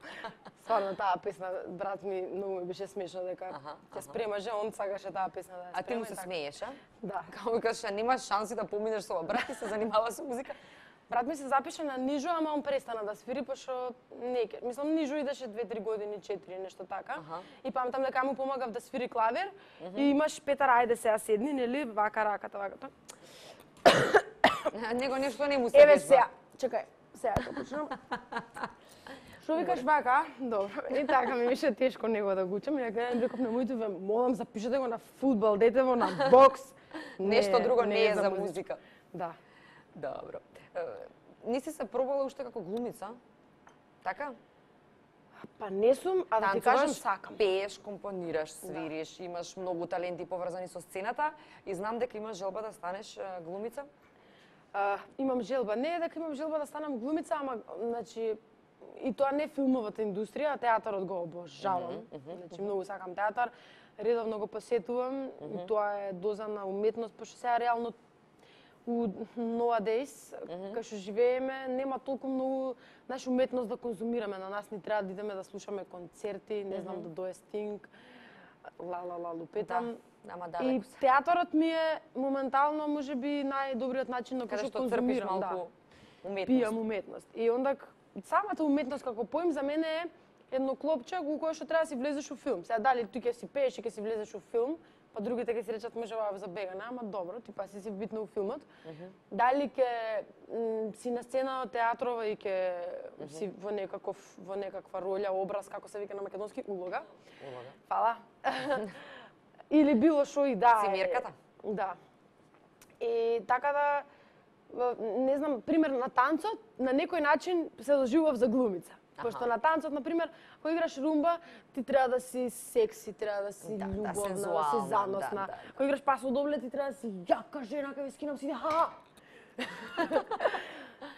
Стварно, таа песна, брат ми, многу ми беше смешно дека ќе спремаше, он сакаше таа песна да ја спрема. А ти му се смееш, а? Да. Како кажеш, немаш шанси да поминеш со брат и се занимава со музика? Брат ми се запиша на нижо, ама он престана да свири, пошто мислам нижо идеше 2-3 години, 4, нешто така. И памтам дека му помагав да свири клавир и имаш Петар, ајде сега седни, нели, вака раката, вака. Него нешто не му се вежба. Еве сега, чекај, сега ќе почнам. Што викаш вака? Добро. И така ми беше тешко него да го учам. И дека реков на моите, ве молам, запишете го на фудбал, дете го на бокс. Нешто друго не е за музика. Да. Добро. Не си се пробала уште како глумица? Така? Па не сум, а да ти кажам сакам. Пееш, компонираш, свириш, имаш многу таленти поврзани со сцената и знам дека имаш желба да станеш глумица? Имам желба. Не е дека имам желба да станам глумица, ама значи и тоа не филмовата индустрија, а театарот го обожавам. Значи многу сакам театар, редовно го посетувам и тоа е доза на уметност, пошто сега реално у nowadays, кај што живееме, нема толку многу наша уметност да конзумираме. На нас ни треба да идеме да слушаме концерти, не знам, да дое Стинг, лупетам. И театарот ми е моментално, можеби, најдобриот начин на кој што конзумирам. Малку уметност. Пијам уметност. И онда, самата уметност како поим за мене е едно клопче у кое што треба да си влезеш у филм. Сега дали ти ќе си пееш и ќе си влезеш у филм, па другите ќе си речат може ова за бегане, ама добро, ти па си битна у филмот. Дали ќе си на сцена од театрова и ќе си во некаква роља, образ, како се вика на македонски, улога. Фала. Или било што и да. Симирката. Да. И така да, не знам, пример на танцот, на некој начин се доживував за глумица. Пошто на танцот, например, кога играш румба, ти треба да си секси, треба да си љубовна, да си заносна. Кога играш пасо добле, ти треба да си јака жена, кај ве скинам си ха.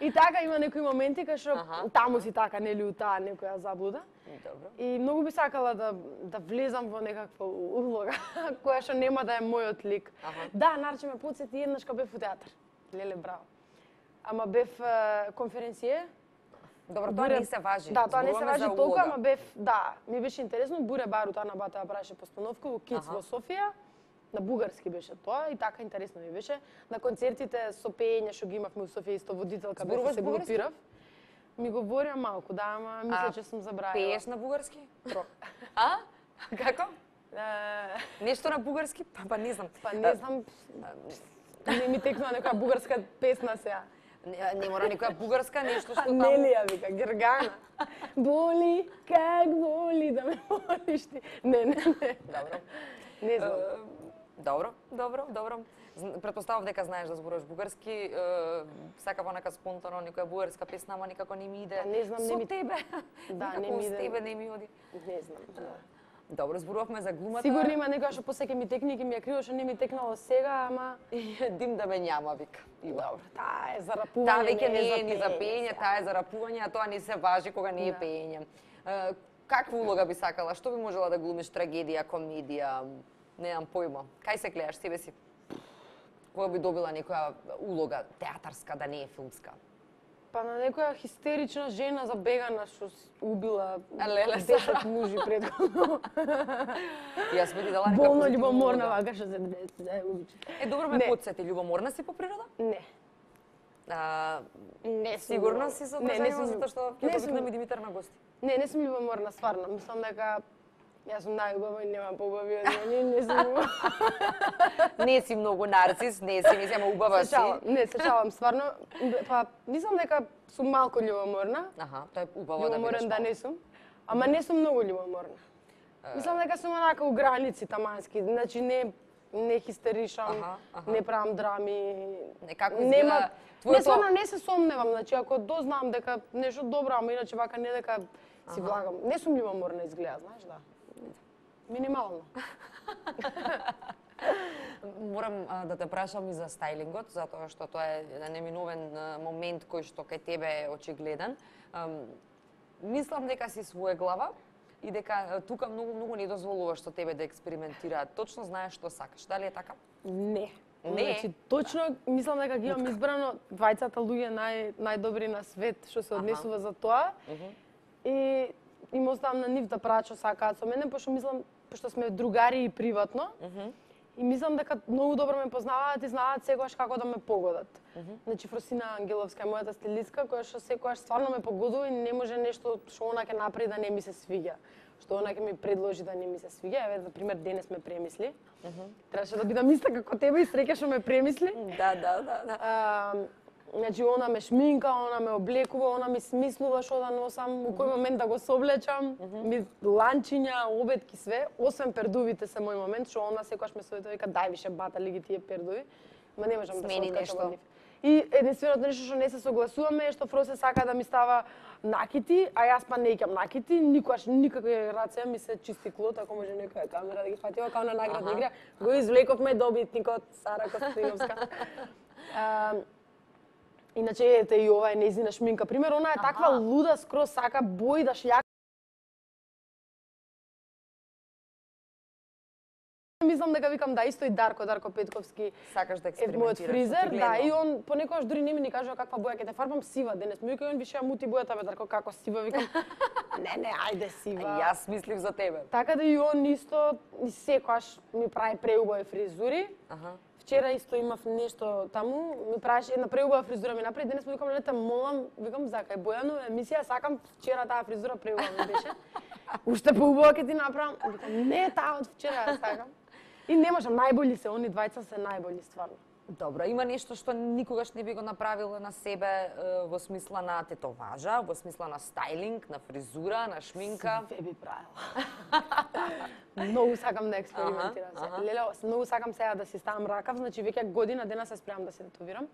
И така има некои моменти кај што таму си така, нели, у таа некоја заблуда. И многу би сакала да влезам во некаква улога која што нема да е мојот лик. Да, нарече ме потсети еднаш кога бев у театар. Леле, браво. Ама бев конференције. Добро, тоа не се важи. Да, тоа не се важи толку, ама бев, да, ми беше интересно. Буре Барут, Ана Бата ја правеше постановка во Kids во Софија. На бугарски беше тоа и така интересно ми беше. На концертите со пеење што ги имавме у Софија, исто водителка бев, се групирав. Ми говорам малку, да, ама мисля че сум забравила. Пееш на бугарски? А? Како? Нешто на бугарски? Па не знам. Па не знам. Не ми текнува некоја бугарска песна сега. Не мора некоја бугарска, нешто што таму... Нелија вика, Гергана. Боли, как боли да ме волиш ти. Не. Добро. Не знам. Добро. Претпоставав дека знаеш да зборуваш бугарски, сакав онака спонтано некоја бугарска песна, ама никако не ми иде. Не знам, не ми... Со тебе. Да, не ми иде. Со тебе не ми оди. Не знам. Добро, зборувавме за глумата. Сигурно има некоја што посеќе ми текни, ќе ми ја криво што не ми текнало сега, ама дим да ме њама, вика. Добро, таа е за рапување. Таа веќе не е ни за пеење, таа е за рапување, а тоа не се важи кога не е пеење. Каква улога би сакала? Што би можела да глумиш? Трагедија, комедија? Немам појма. Кај се гледаш себе си? Која би добила некоја улога театарска, да не е филмска? Па на некоја хистерична жена забегана што убила Леле, 10 мужи предходно. Јас би ти дала нека Болно позитивна љубоморна, улога. вака што се не обичам. Добро ме Не. подсети, љубоморна си по природа? Не. Не сум Сигурна љубоморна. си со Не, тоа не женива, сум затоа што не ќе сум- повикнеме Димитар на гости. Не сум љубоморна, стварно. Мислам дека јас сум најубава и нема поубави од мене, не сум. Не си многу нарцис, не си, ама убава Се си. шалам, не се шалам, стварно. Па мислам дека сум малку љубоморна. Аха, тоа е убаво да бидеш Љубоморен да малку. не сум, ама не сум многу љубоморна. Мислам дека сум онака у граници тамански, значи не хистеришам, Аха. не правам драми. Некако Нема, изгледа не стварно не се сомневам, значи ако дознам дека нешто добро, ама иначе вака не дека си влагам. Не сум љубоморна изгледа, знаеш, да. Минимално. Морам да те прашам и за стајлингот, затоа што тоа е еден неминовен момент кој што кај тебе е очигледен. Мислам дека си своеглава и дека тука многу не дозволуваш што тебе да експериментираат. Точно знаеш што сакаш. Дали е така? Не. Не? Значи, точно мислам дека ги имам избрано двајцата луѓе најдобри на свет што се однесува за тоа. И им оставам на нив да прават што сакаат со мене, пошто сме другари и приватно. И мислам дека многу добро ме познаваат и знаат секогаш како да ме погодат. Значи Фросина Ангеловска е мојата стилистка која што секогаш стварно ме погодува и не може нешто што она ќе направи да не ми се свиѓа. Што она ќе ми предложи да не ми се свиѓа. Еве за пример денес ме премисли. Требаше да бидам иста како тебе и среќа што ме премисли. Да. Значи, она ме шминка, она ме облекува, она ми смислува што да носам, у кој момент да го соблечам, ми ланчиња, обедки, све, освен пердувите се мој момент, што она секогаш ме советува, вика дај више батали ги тие пердуви, ма не можам да се Смени откачам нешто. од нив. И единственото нешто што не се согласуваме е што Фросе сака да ми става накити, а јас па не ќам накити, никогаш никаква рација ми се чисти клот, ако може некоја камера да ги фати, ова као на наградна игра, го извлековме добитникот Сара Костиновска. Иначе ете и ова е нејзина шминка. Пример, она е таква луда, скроз сака бои да шљака. Мислам дека викам да исто и Дарко Петковски Сакаш да е мојот експериментираш. фризер, да, очигледно. и он понекогаш дури не ми ни кажува каква боја ќе те фарбам сива денес. Ми вика он више ја мути бојата, бе Дарко, како сива, викам. Не, ајде сива. Јас мислив за тебе. Така да и он исто и секогаш ми прави преубави фризури. Вчера исто имав нешто таму, ми правеше една преубава фризура ми направи, денес му викам лета молам, викам за кај Бојано емисија, сакам вчера таа фризура преубава ми беше. Уште поубава ќе ти направам. Викам не таа од вчера ја сакам. И не можам, најбољи се, они двајца се најбољи стварно. Добро, има нешто што никогаш не би го направила на себе во смисла на тетоважа, во смисла на стајлинг, на фризура, на шминка? Све би правила. Многу сакам да експериментирам се. Леле, многу сакам сега да си ставам ракав, значи веќе година дена се спремам да се тетовирам.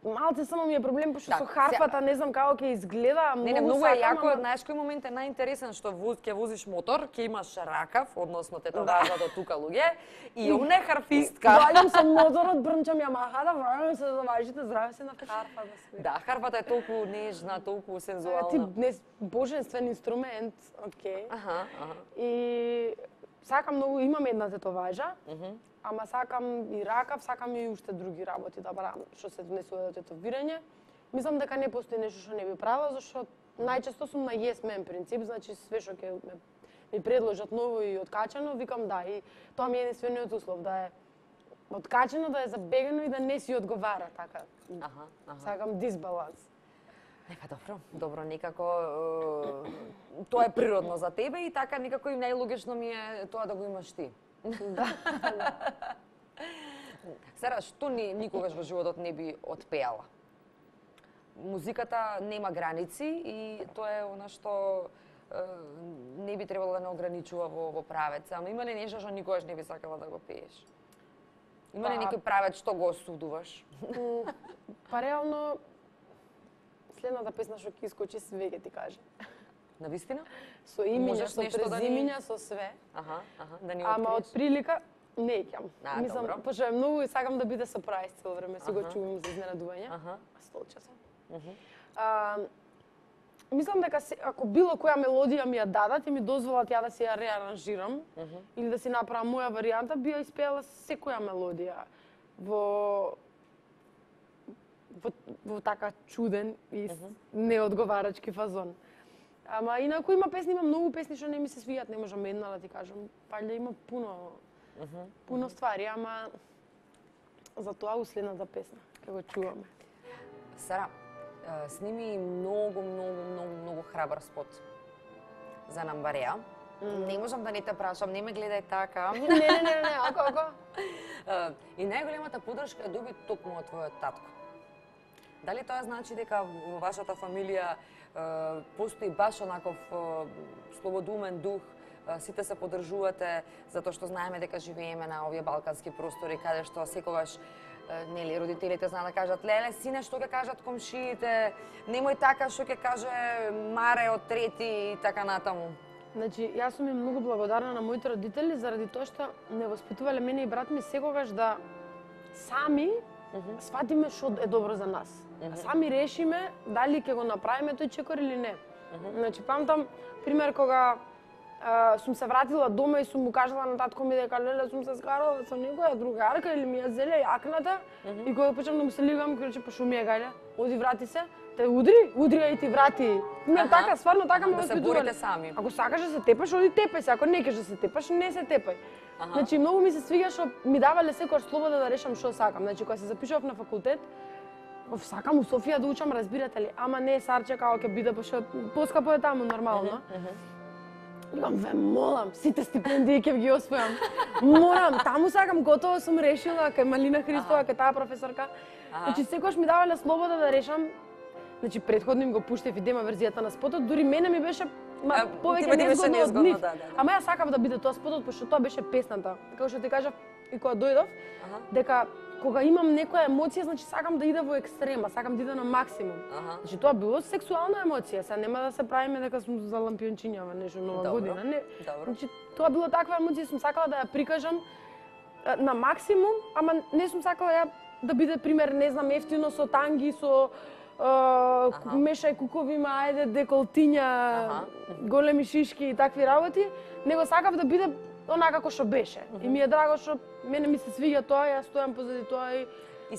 Малце само ми е проблем, пошто со харфата не знам како ќе изгледа, Многу е јако, знаеш кој момент е најинтересен, што ќе возиш мотор, ќе имаш ракав, односно тетоважа до тука луѓе, и она е харфистка. Валјам со моторот, брнчам Ямахата, врајам се за важите, здраве се на харфа да све. Да, харфата е толку нежна, толку Ти сензуална. божествен инструмент, окей. Аха. И сакам многу, имам една тетоважа, ама сакам и ракав, сакам и уште други работи да правам, што се внесува до тетовирање. Мислам дека не постои нешто што не би правила, зашто најчесто сум на yes man принцип, значи све што ќе ми предложат ново и откачено, викам да, и тоа ми е единствениот услов, да е откачено, да е забегано и да не си одговара, така. Сакам дисбаланс. Па добро, некако тоа е природно за тебе и така некако и најлогично ми е тоа да го имаш ти. Да. Сара, што никогаш во животот не би отпеала? Музиката нема граници и тоа е она што не би требало да не ограничува во правец. Ама има ли нешто што никогаш не би сакала да го пееш? Има ли некој правец што го осудуваш? Па реално, следната песна што ќе искочи све ќе ти каже. Навистина? Со имиња, Можеш со нешто да ни- презимиња, со све. Да ни Ама од откриеш? прилика не ќам. Добро. Мислам, пошто е многу и сакам да биде сопрајз цело време, си го чувам за изненадување. Столче сум. Мислам дека ако било која мелодија ми ја дадат и ми дозволат ја да си ја реаранжирам или да си направам моја варијанта, би ја испеала секоја мелодија. во така чуден и неодговарачки фазон. Ама инаку има песни, има многу песни што не ми се свијат, не можам една да ти кажам. Пајде има пуно ствари, ама за тоа следната песна, ќе го чуваме. Сара, сними многу храбар спот за Намбареа. Не можам да не те прашам, не ме гледај така. Не, ако. И најголемата поддршка ја доби токму од твојот татко. Дали тоа значи дека во вашата фамилија постои баш онаков слободумен дух, сите се поддржувате, затоа што знаеме дека живееме на овие балкански простори, каде што секогаш нели родителите знаат да кажат: "Леле, сине, што ќе кажат комшиите? Немој така, што ќе каже Маре од трети" и така натаму. Значи, јас сум им многу благодарна на моите родители заради тоа што не воспитувале мене и брат ми секогаш да сами сватиме што е добро за нас. Сами решиме дали ќе го направиме тој чекор или не. Значи, памтам пример кога сум се вратила дома и сум му кажала на татко ми дека леле сум се скарала со некоја другарка или ми ја зеле јакната и кога почнам да му се лигам, рече па шо ми е гајле, оди врати се, те удри и ти врати. Не така, стварно така ме воспитувале. Да се борите сами. Ако сакаш да се тепаш, оди тепај се, ако не кеш да се тепаш, не се тепај. Значи многу ми се свиѓа што ми давале секојаш слобода да решам што сакам. Значи кога се запишував на факултет, сакам у Софија да учам, разбирате ли, ама не Сарче као ќе биде, пошто поскапо е таму нормално. Викам, ве молам, сите стипендии ќе ги освојам. Морам, таму сакам, готово сум решила, кај Малина Христова, кај таа професорка. Значи секогаш ми давале слобода да решам. Значи претходно им го пуштев и дема верзијата на спотот, дури мене ми беше повеќе незгодно од нив. Ама јас сакав да биде тоа спотот, пошто тоа беше песната. Како што ти кажав и кога дојдов, дека кога имам некоја емоција, значи сакам да иде во екстрема, сакам да иде на максимум. Значи тоа било сексуална емоција, сега нема да се правиме дека сум за лампиончињава нешто нова година, не. Значи тоа било таква емоција, сум сакала да ја прикажам на максимум, ама не сум сакала ја да биде пример, не знам, ефтино со танги, со мешај куковима, ајде деколтиња, големи шишки и такви работи, него сакав да биде онака како што беше. И ми е драго што мене ми се свиѓа тоа, јас стојам позади тоа и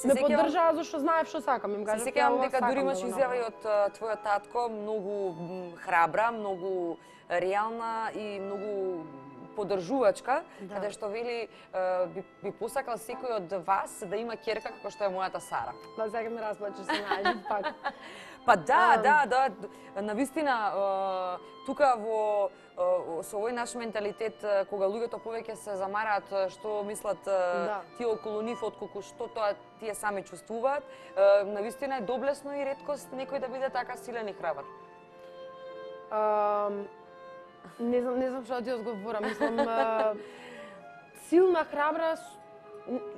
ме поддржаа зашто знаев што сакам. Им кажав, се сеќавам дека дури имаш изјава и од твојот татко, многу храбра, многу реална и многу поддржувачка, каде што вели би посакал секој од вас да има ќерка како што е мојата Сара. Да, сега ме расплачеш се најдив пак. Па да, навистина тука со овој наш менталитет, кога луѓето повеќе се замараат што мислат тие околу нив, отколку што тоа тие сами чувствуваат, навистина е доблесно и реткост некој да биде така силен и храбар. Не знам што да ти одговорам, мислам силна, храбра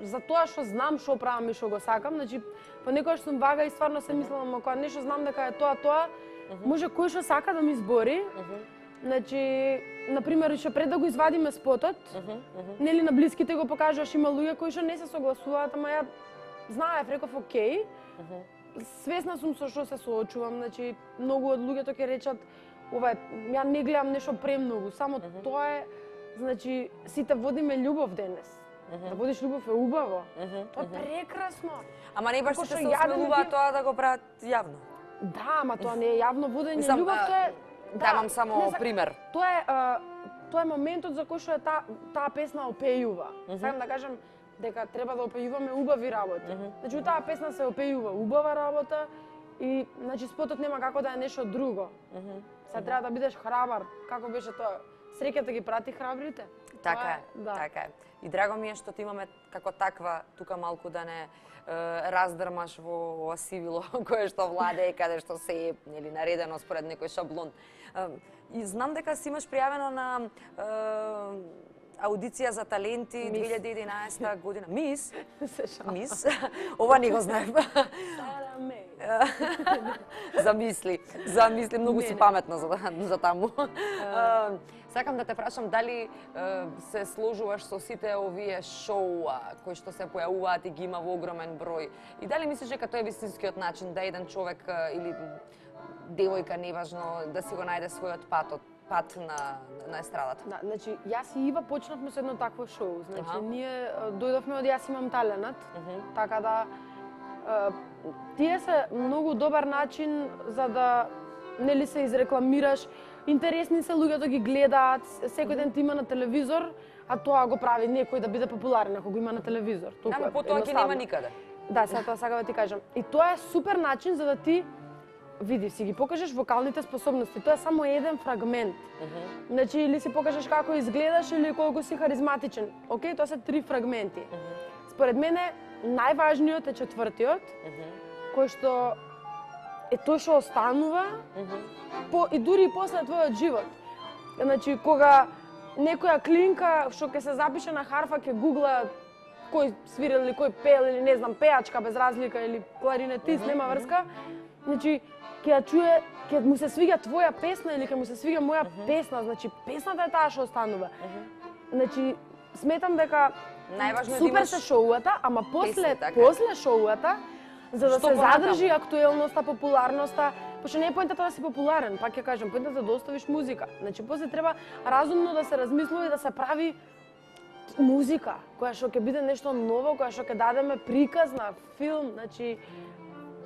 за тоа што знам што правам и што го сакам, значи понекогаш сум вага и стварно се мислам, кога нешто знам дека е тоа, може кој што сака да ми збори. Значи, например, што пред да го извадиме спотот, нели на блиските го покажуваш, има луѓе кои што не се согласуваат, ама ја знаев, реков окей. Свесна сум со што се соочувам, значи многу од луѓето ќе речат ова ја не гледам нешто премногу, само тоа е, значи сите водиме љубов денес. Да водиш љубов е убаво. Тоа е прекрасно. Ама не баш се осмелуваат тоа да го прават јавно. Да, ама тоа не е јавно водење љубов, тоа е давам само пример. Тоа е моментот за кој што е таа песна опејува. Сакам да кажам дека треба да опејуваме убави работи. Значи таа песна се опејува убава работа и значи спотот нема како да е нешто друго. Сега треба да бидеш храбар, како беше тоа. Среќата ги прати храбрите. Така е, така е. И драго ми е што ти имаме како таква тука малку да не раздрмаш во ова сивило кое што владее, каде што се е нели наредено според некој шаблон. И знам дека си имаш пријавено на аудиција за таленти 2011 година. Мис? Мис? Ова не го знаев. Замисли, многу си паметна за таму. Сакам да те прашам дали се сложуваш со сите овие шоуа кои што се појавуваат и ги има во огромен број. И дали мислиш дека тоа е вистинскиот начин да еден човек или девојка, неважно, да си го најде својот пат од пат на естрадата. Да, значи јас и Ива почнавме со едно такво шоу. Значи ние дојдовме од Јас имам таленат, така да тие се многу добар начин за да нели се изрекламираш. Интересни се, луѓето ги гледаат, секој ден ти има на телевизор, а тоа го прави некој да биде популарен ако го има на телевизор. Ама потоа ќе нема никаде. Да, сега тоа сакам да ти кажам. И тоа е супер начин за да ти види, си ги покажеш вокалните способности. Тоа е само еден фрагмент. Значи, или си покажеш како изгледаш или колку си харизматичен. Океј, тоа се 3 фрагменти. Според мене, најважниот е четвртиот, кој што е тој што останува и дури и после твојот живот. Значи, кога некоја клинка што ќе се запише на харфа, ќе гугла кој свирил или кој пел или не знам, пеачка без разлика или кларинетист, нема врска. Значи, ќе ја чуе, ќе му се свиѓа твоја песна или ќе му се свиѓа моја песна, значи песната е таа што останува. Значи, сметам дека супер се шоуата, ама после шоуата, за да се задржи актуелноста, популарноста, пошто не е поентата да си популарен, пак ќе кажам, поентата да оставиш музика. Значи, после треба разумно да се размислува и да се прави музика, која што ќе биде нешто ново, која што ќе дадеме приказ на филм, значи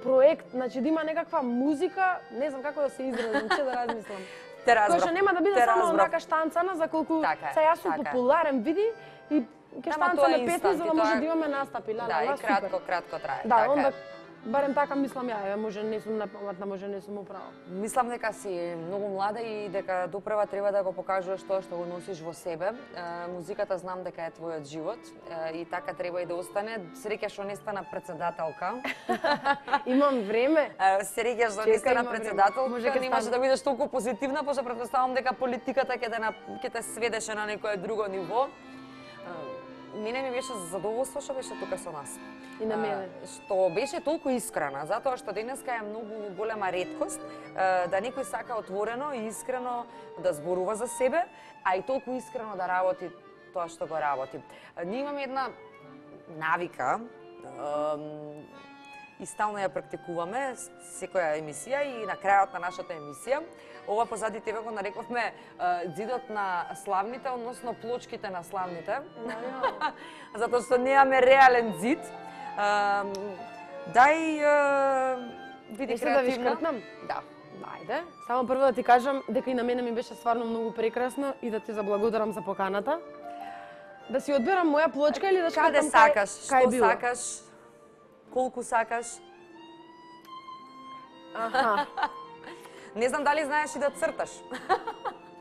проект, значи да има некаква музика, не знам како да се изразам, че да размислам. Која што нема да биде само онака штанцана за колку се јас сум популарен, види и ќе штанцаме песни за да може да имаме настапи. Да, и кратко трае. Да, онда барем така мислам ја, може не сум напаметна, може не сум управо. Мислам дека си многу млада и дека допрева треба да го покажуваш тоа што го носиш во себе. Музиката знам дека е твојот живот и така треба и да остане. Среќа што не стана председателка. Имам време. Среќа што не стана председателка, не може да бидеш толку позитивна, пошто претпоставам дека политиката ќе те сведеше на некое друго ниво. Мене ми беше задоволство што беше тука со нас. И на мене. Што беше толку искрена, затоа што денеска е многу голема реткост да некој сака отворено и искрено да зборува за себе, а и толку искрено да работи тоа што го работи. Ние имаме една навика и стално ја практикуваме секоја емисија и на крајот на нашата емисија. Ова позади тебе го нарековме ѕидот на славните, односно плочките на славните. Затоа што немаме реален ѕид. Дај биди креативна. Да ви шкртнам? Да. Ајде. Само прво да ти кажам дека и на мене ми беше стварно многу прекрасно и да ти заблагодарам за поканата. Да си одберам моја плочка или да шкртам каде сакаш, што сакаш, колку сакаш. Аха. Не знам дали знаеш и да црташ.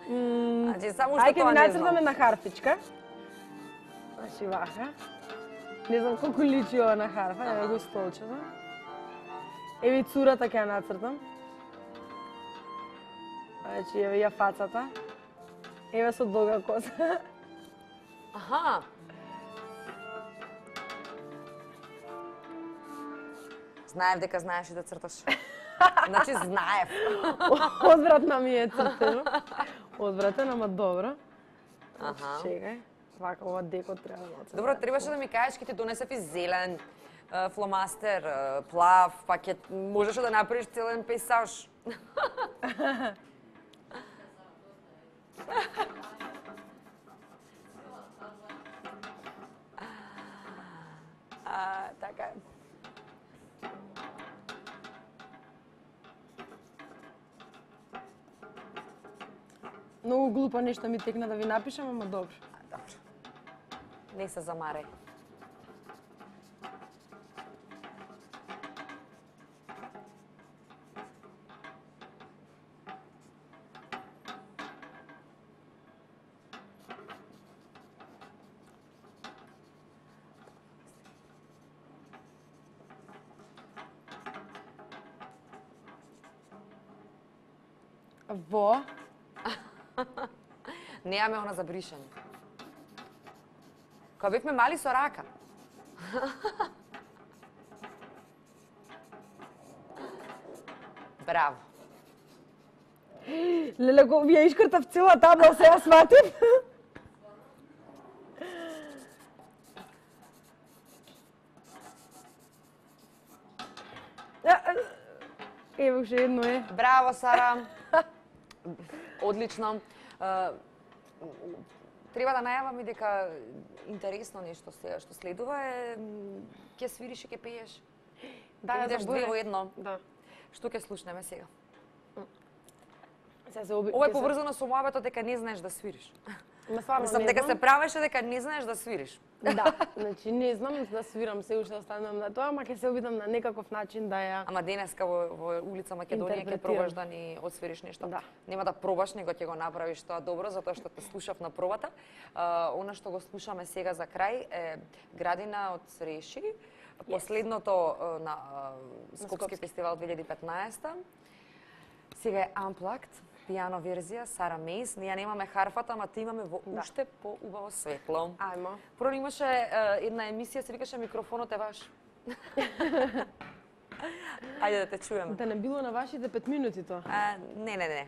Значи само што Ајде тоа ми не нацртаме знам. на харфичка. Значи вака. Не знам колку личи ова на харфа, еве го столчето. Еви цурата ќе ја нацртам. Значи еве ја фацата. Еве со долга коса. Аха. Знаев дека знаеш и да црташ. Значи знаев. Одвратна ми е цртено. Одвратен, ама добро. Аха. Чекај. Вака ова деко треба да нацртам. Добро, требаше да ми кажеш, ќе ти донесев и зелен, фломастер, плав, па ќе можеш да направиш целен пейсаж. Така е. Многу глупо нешто ми текна да ви напишам, ама добро. Добро. Не се замарај. Во? Неаме она за бришење. Кога бевме мали со рака. Браво. Леле, го ја искртав цела табла, се ја сватив. Ево уште едно е. Браво, Сара. Одлично. Треба да најавам и дека интересно нешто сега што следува е ќе свириш и ќе пееш. Да, идеш две во едно. Да. Што ќе слушнеме сега? Ова е поврзано со мојавето дека не знаеш да свириш. Мислам дека се правеше дека не знаеш да свириш. Да, значи не знам да свирам, се уште останам на тоа, ама ќе се обидам на некаков начин да ја... Ама денеска во улица Македонија ќе пробаш да ни освириш нешто. Да. Нема да пробаш, него ќе го направиш тоа добро, затоа што те слушав на пробата. Она што го слушаме сега за крај е Градина од Среши, последното на Скопски фестивал 2015. Сега е Unplugged, пијано верзија, Сара Мейс. Ние немаме харфата, ама те имаме во уште поубаво светло. Ајмо. Прво имаше една емисија, се викаше Микрофонот е ваш. Ајде да те чуеме. Да не било на вашите 5 минути тоа? Не.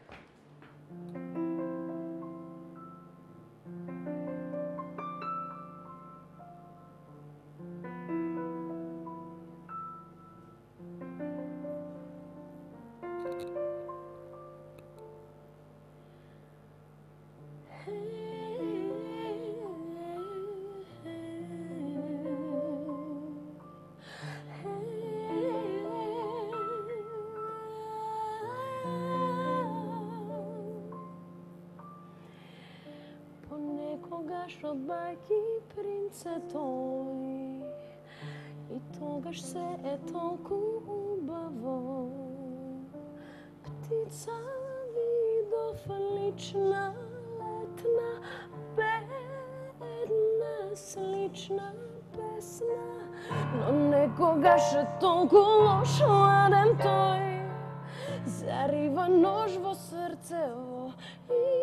Од бајки принце тој и тогаш се е толку убаво. Птица видов лична, летна, бедна, слична песна, но некогаш е толку лош ладен тој. Зарива нож во срцево,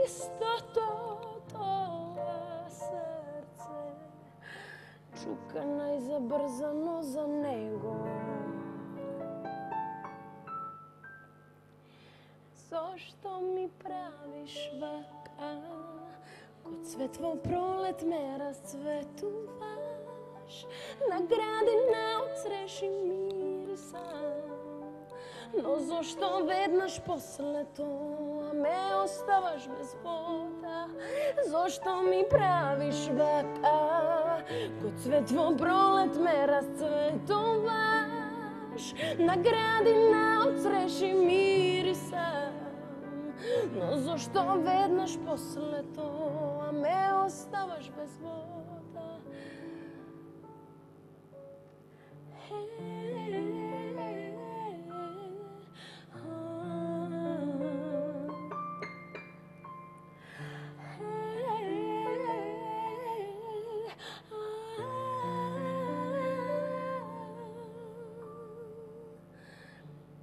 истото срце чука најзабрзано за него. Зошто ми правиш вака? Ко цвет во пролет ме расцветуваш, на градина од Среши мирисам. Но зошто веднаш после тоа ме оставаш без вода? Зошто ми правиш вака? Ко цвет во пролет ме расцветуваш, на градина од Среши мирисам. Но зошто веднаш после тоа ме оставаш без вода?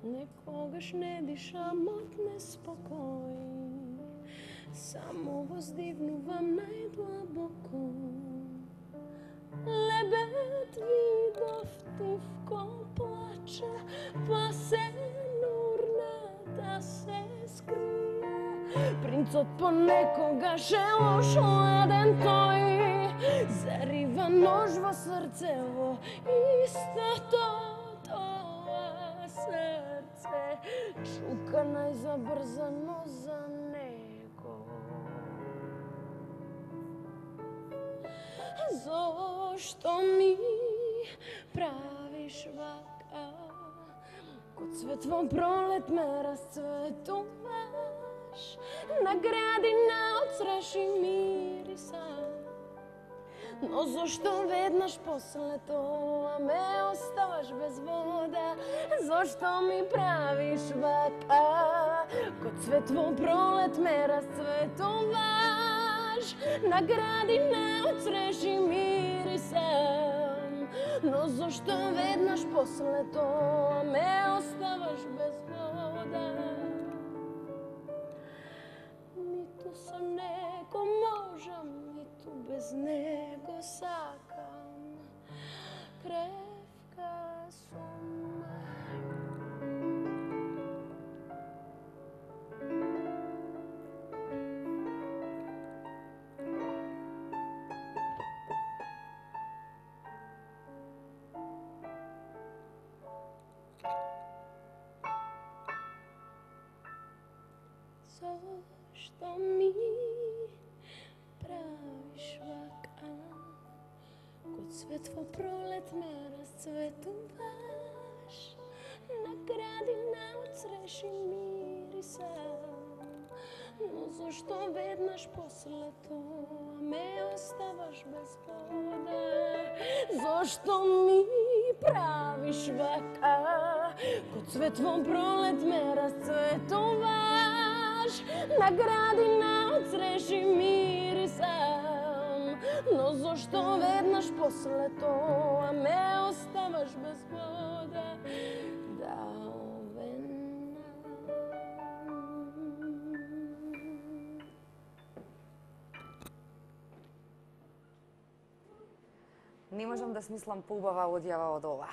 Некогаш не дишам од неспокој, само воздигнувам најдлабоко. Лебед видов тивко плаче, па се нурна да се скрие. Принцот понекогаш е лош ладен тој, зарива нож во срцево, истото срце чука најзабрзано за него. Зошто ми правиш вака? Ко цвет во пролет ме расцветуваш, на градина од Среши мирисам. Но зошто веднаш после тоа ме оставаш без вода? Зошто ми правиш вака? Ко цвет во пролет ме расцветуваш, на градина од Среши мирисам. Но зошто веднаш после тоа ме оставаш без вода? Ниту со него можам, ниту без него сакам. Кревка сум. Зошто ми правиш вака? Код цвет во пролет ме расцветуваш, на градина од цреши мириса. Но зошто веднаш после тоа ме оставаш без вода? Зошто ми правиш вака? Код цвет во пролет ме расцветуваш, на градина од цреши мирисам. Но зошто веднаш после тоа ме оставаш без вода? Не можам да смислам поубава одјава од ова.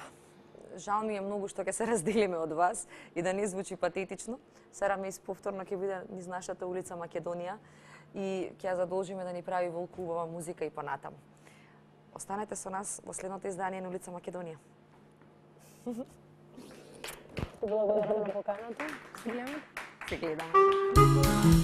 Жал ми е многу што ќе се разделиме од вас и да не звучи патетично. Сара Мејс повторно ќе биде низ нашата улица Македонија и ќе ја задолжиме да ни прави волку убава музика и понатаму. Останете со нас во следното издание на улица Македонија. Благодарам на поканата. Се гледаме. Се гледаме.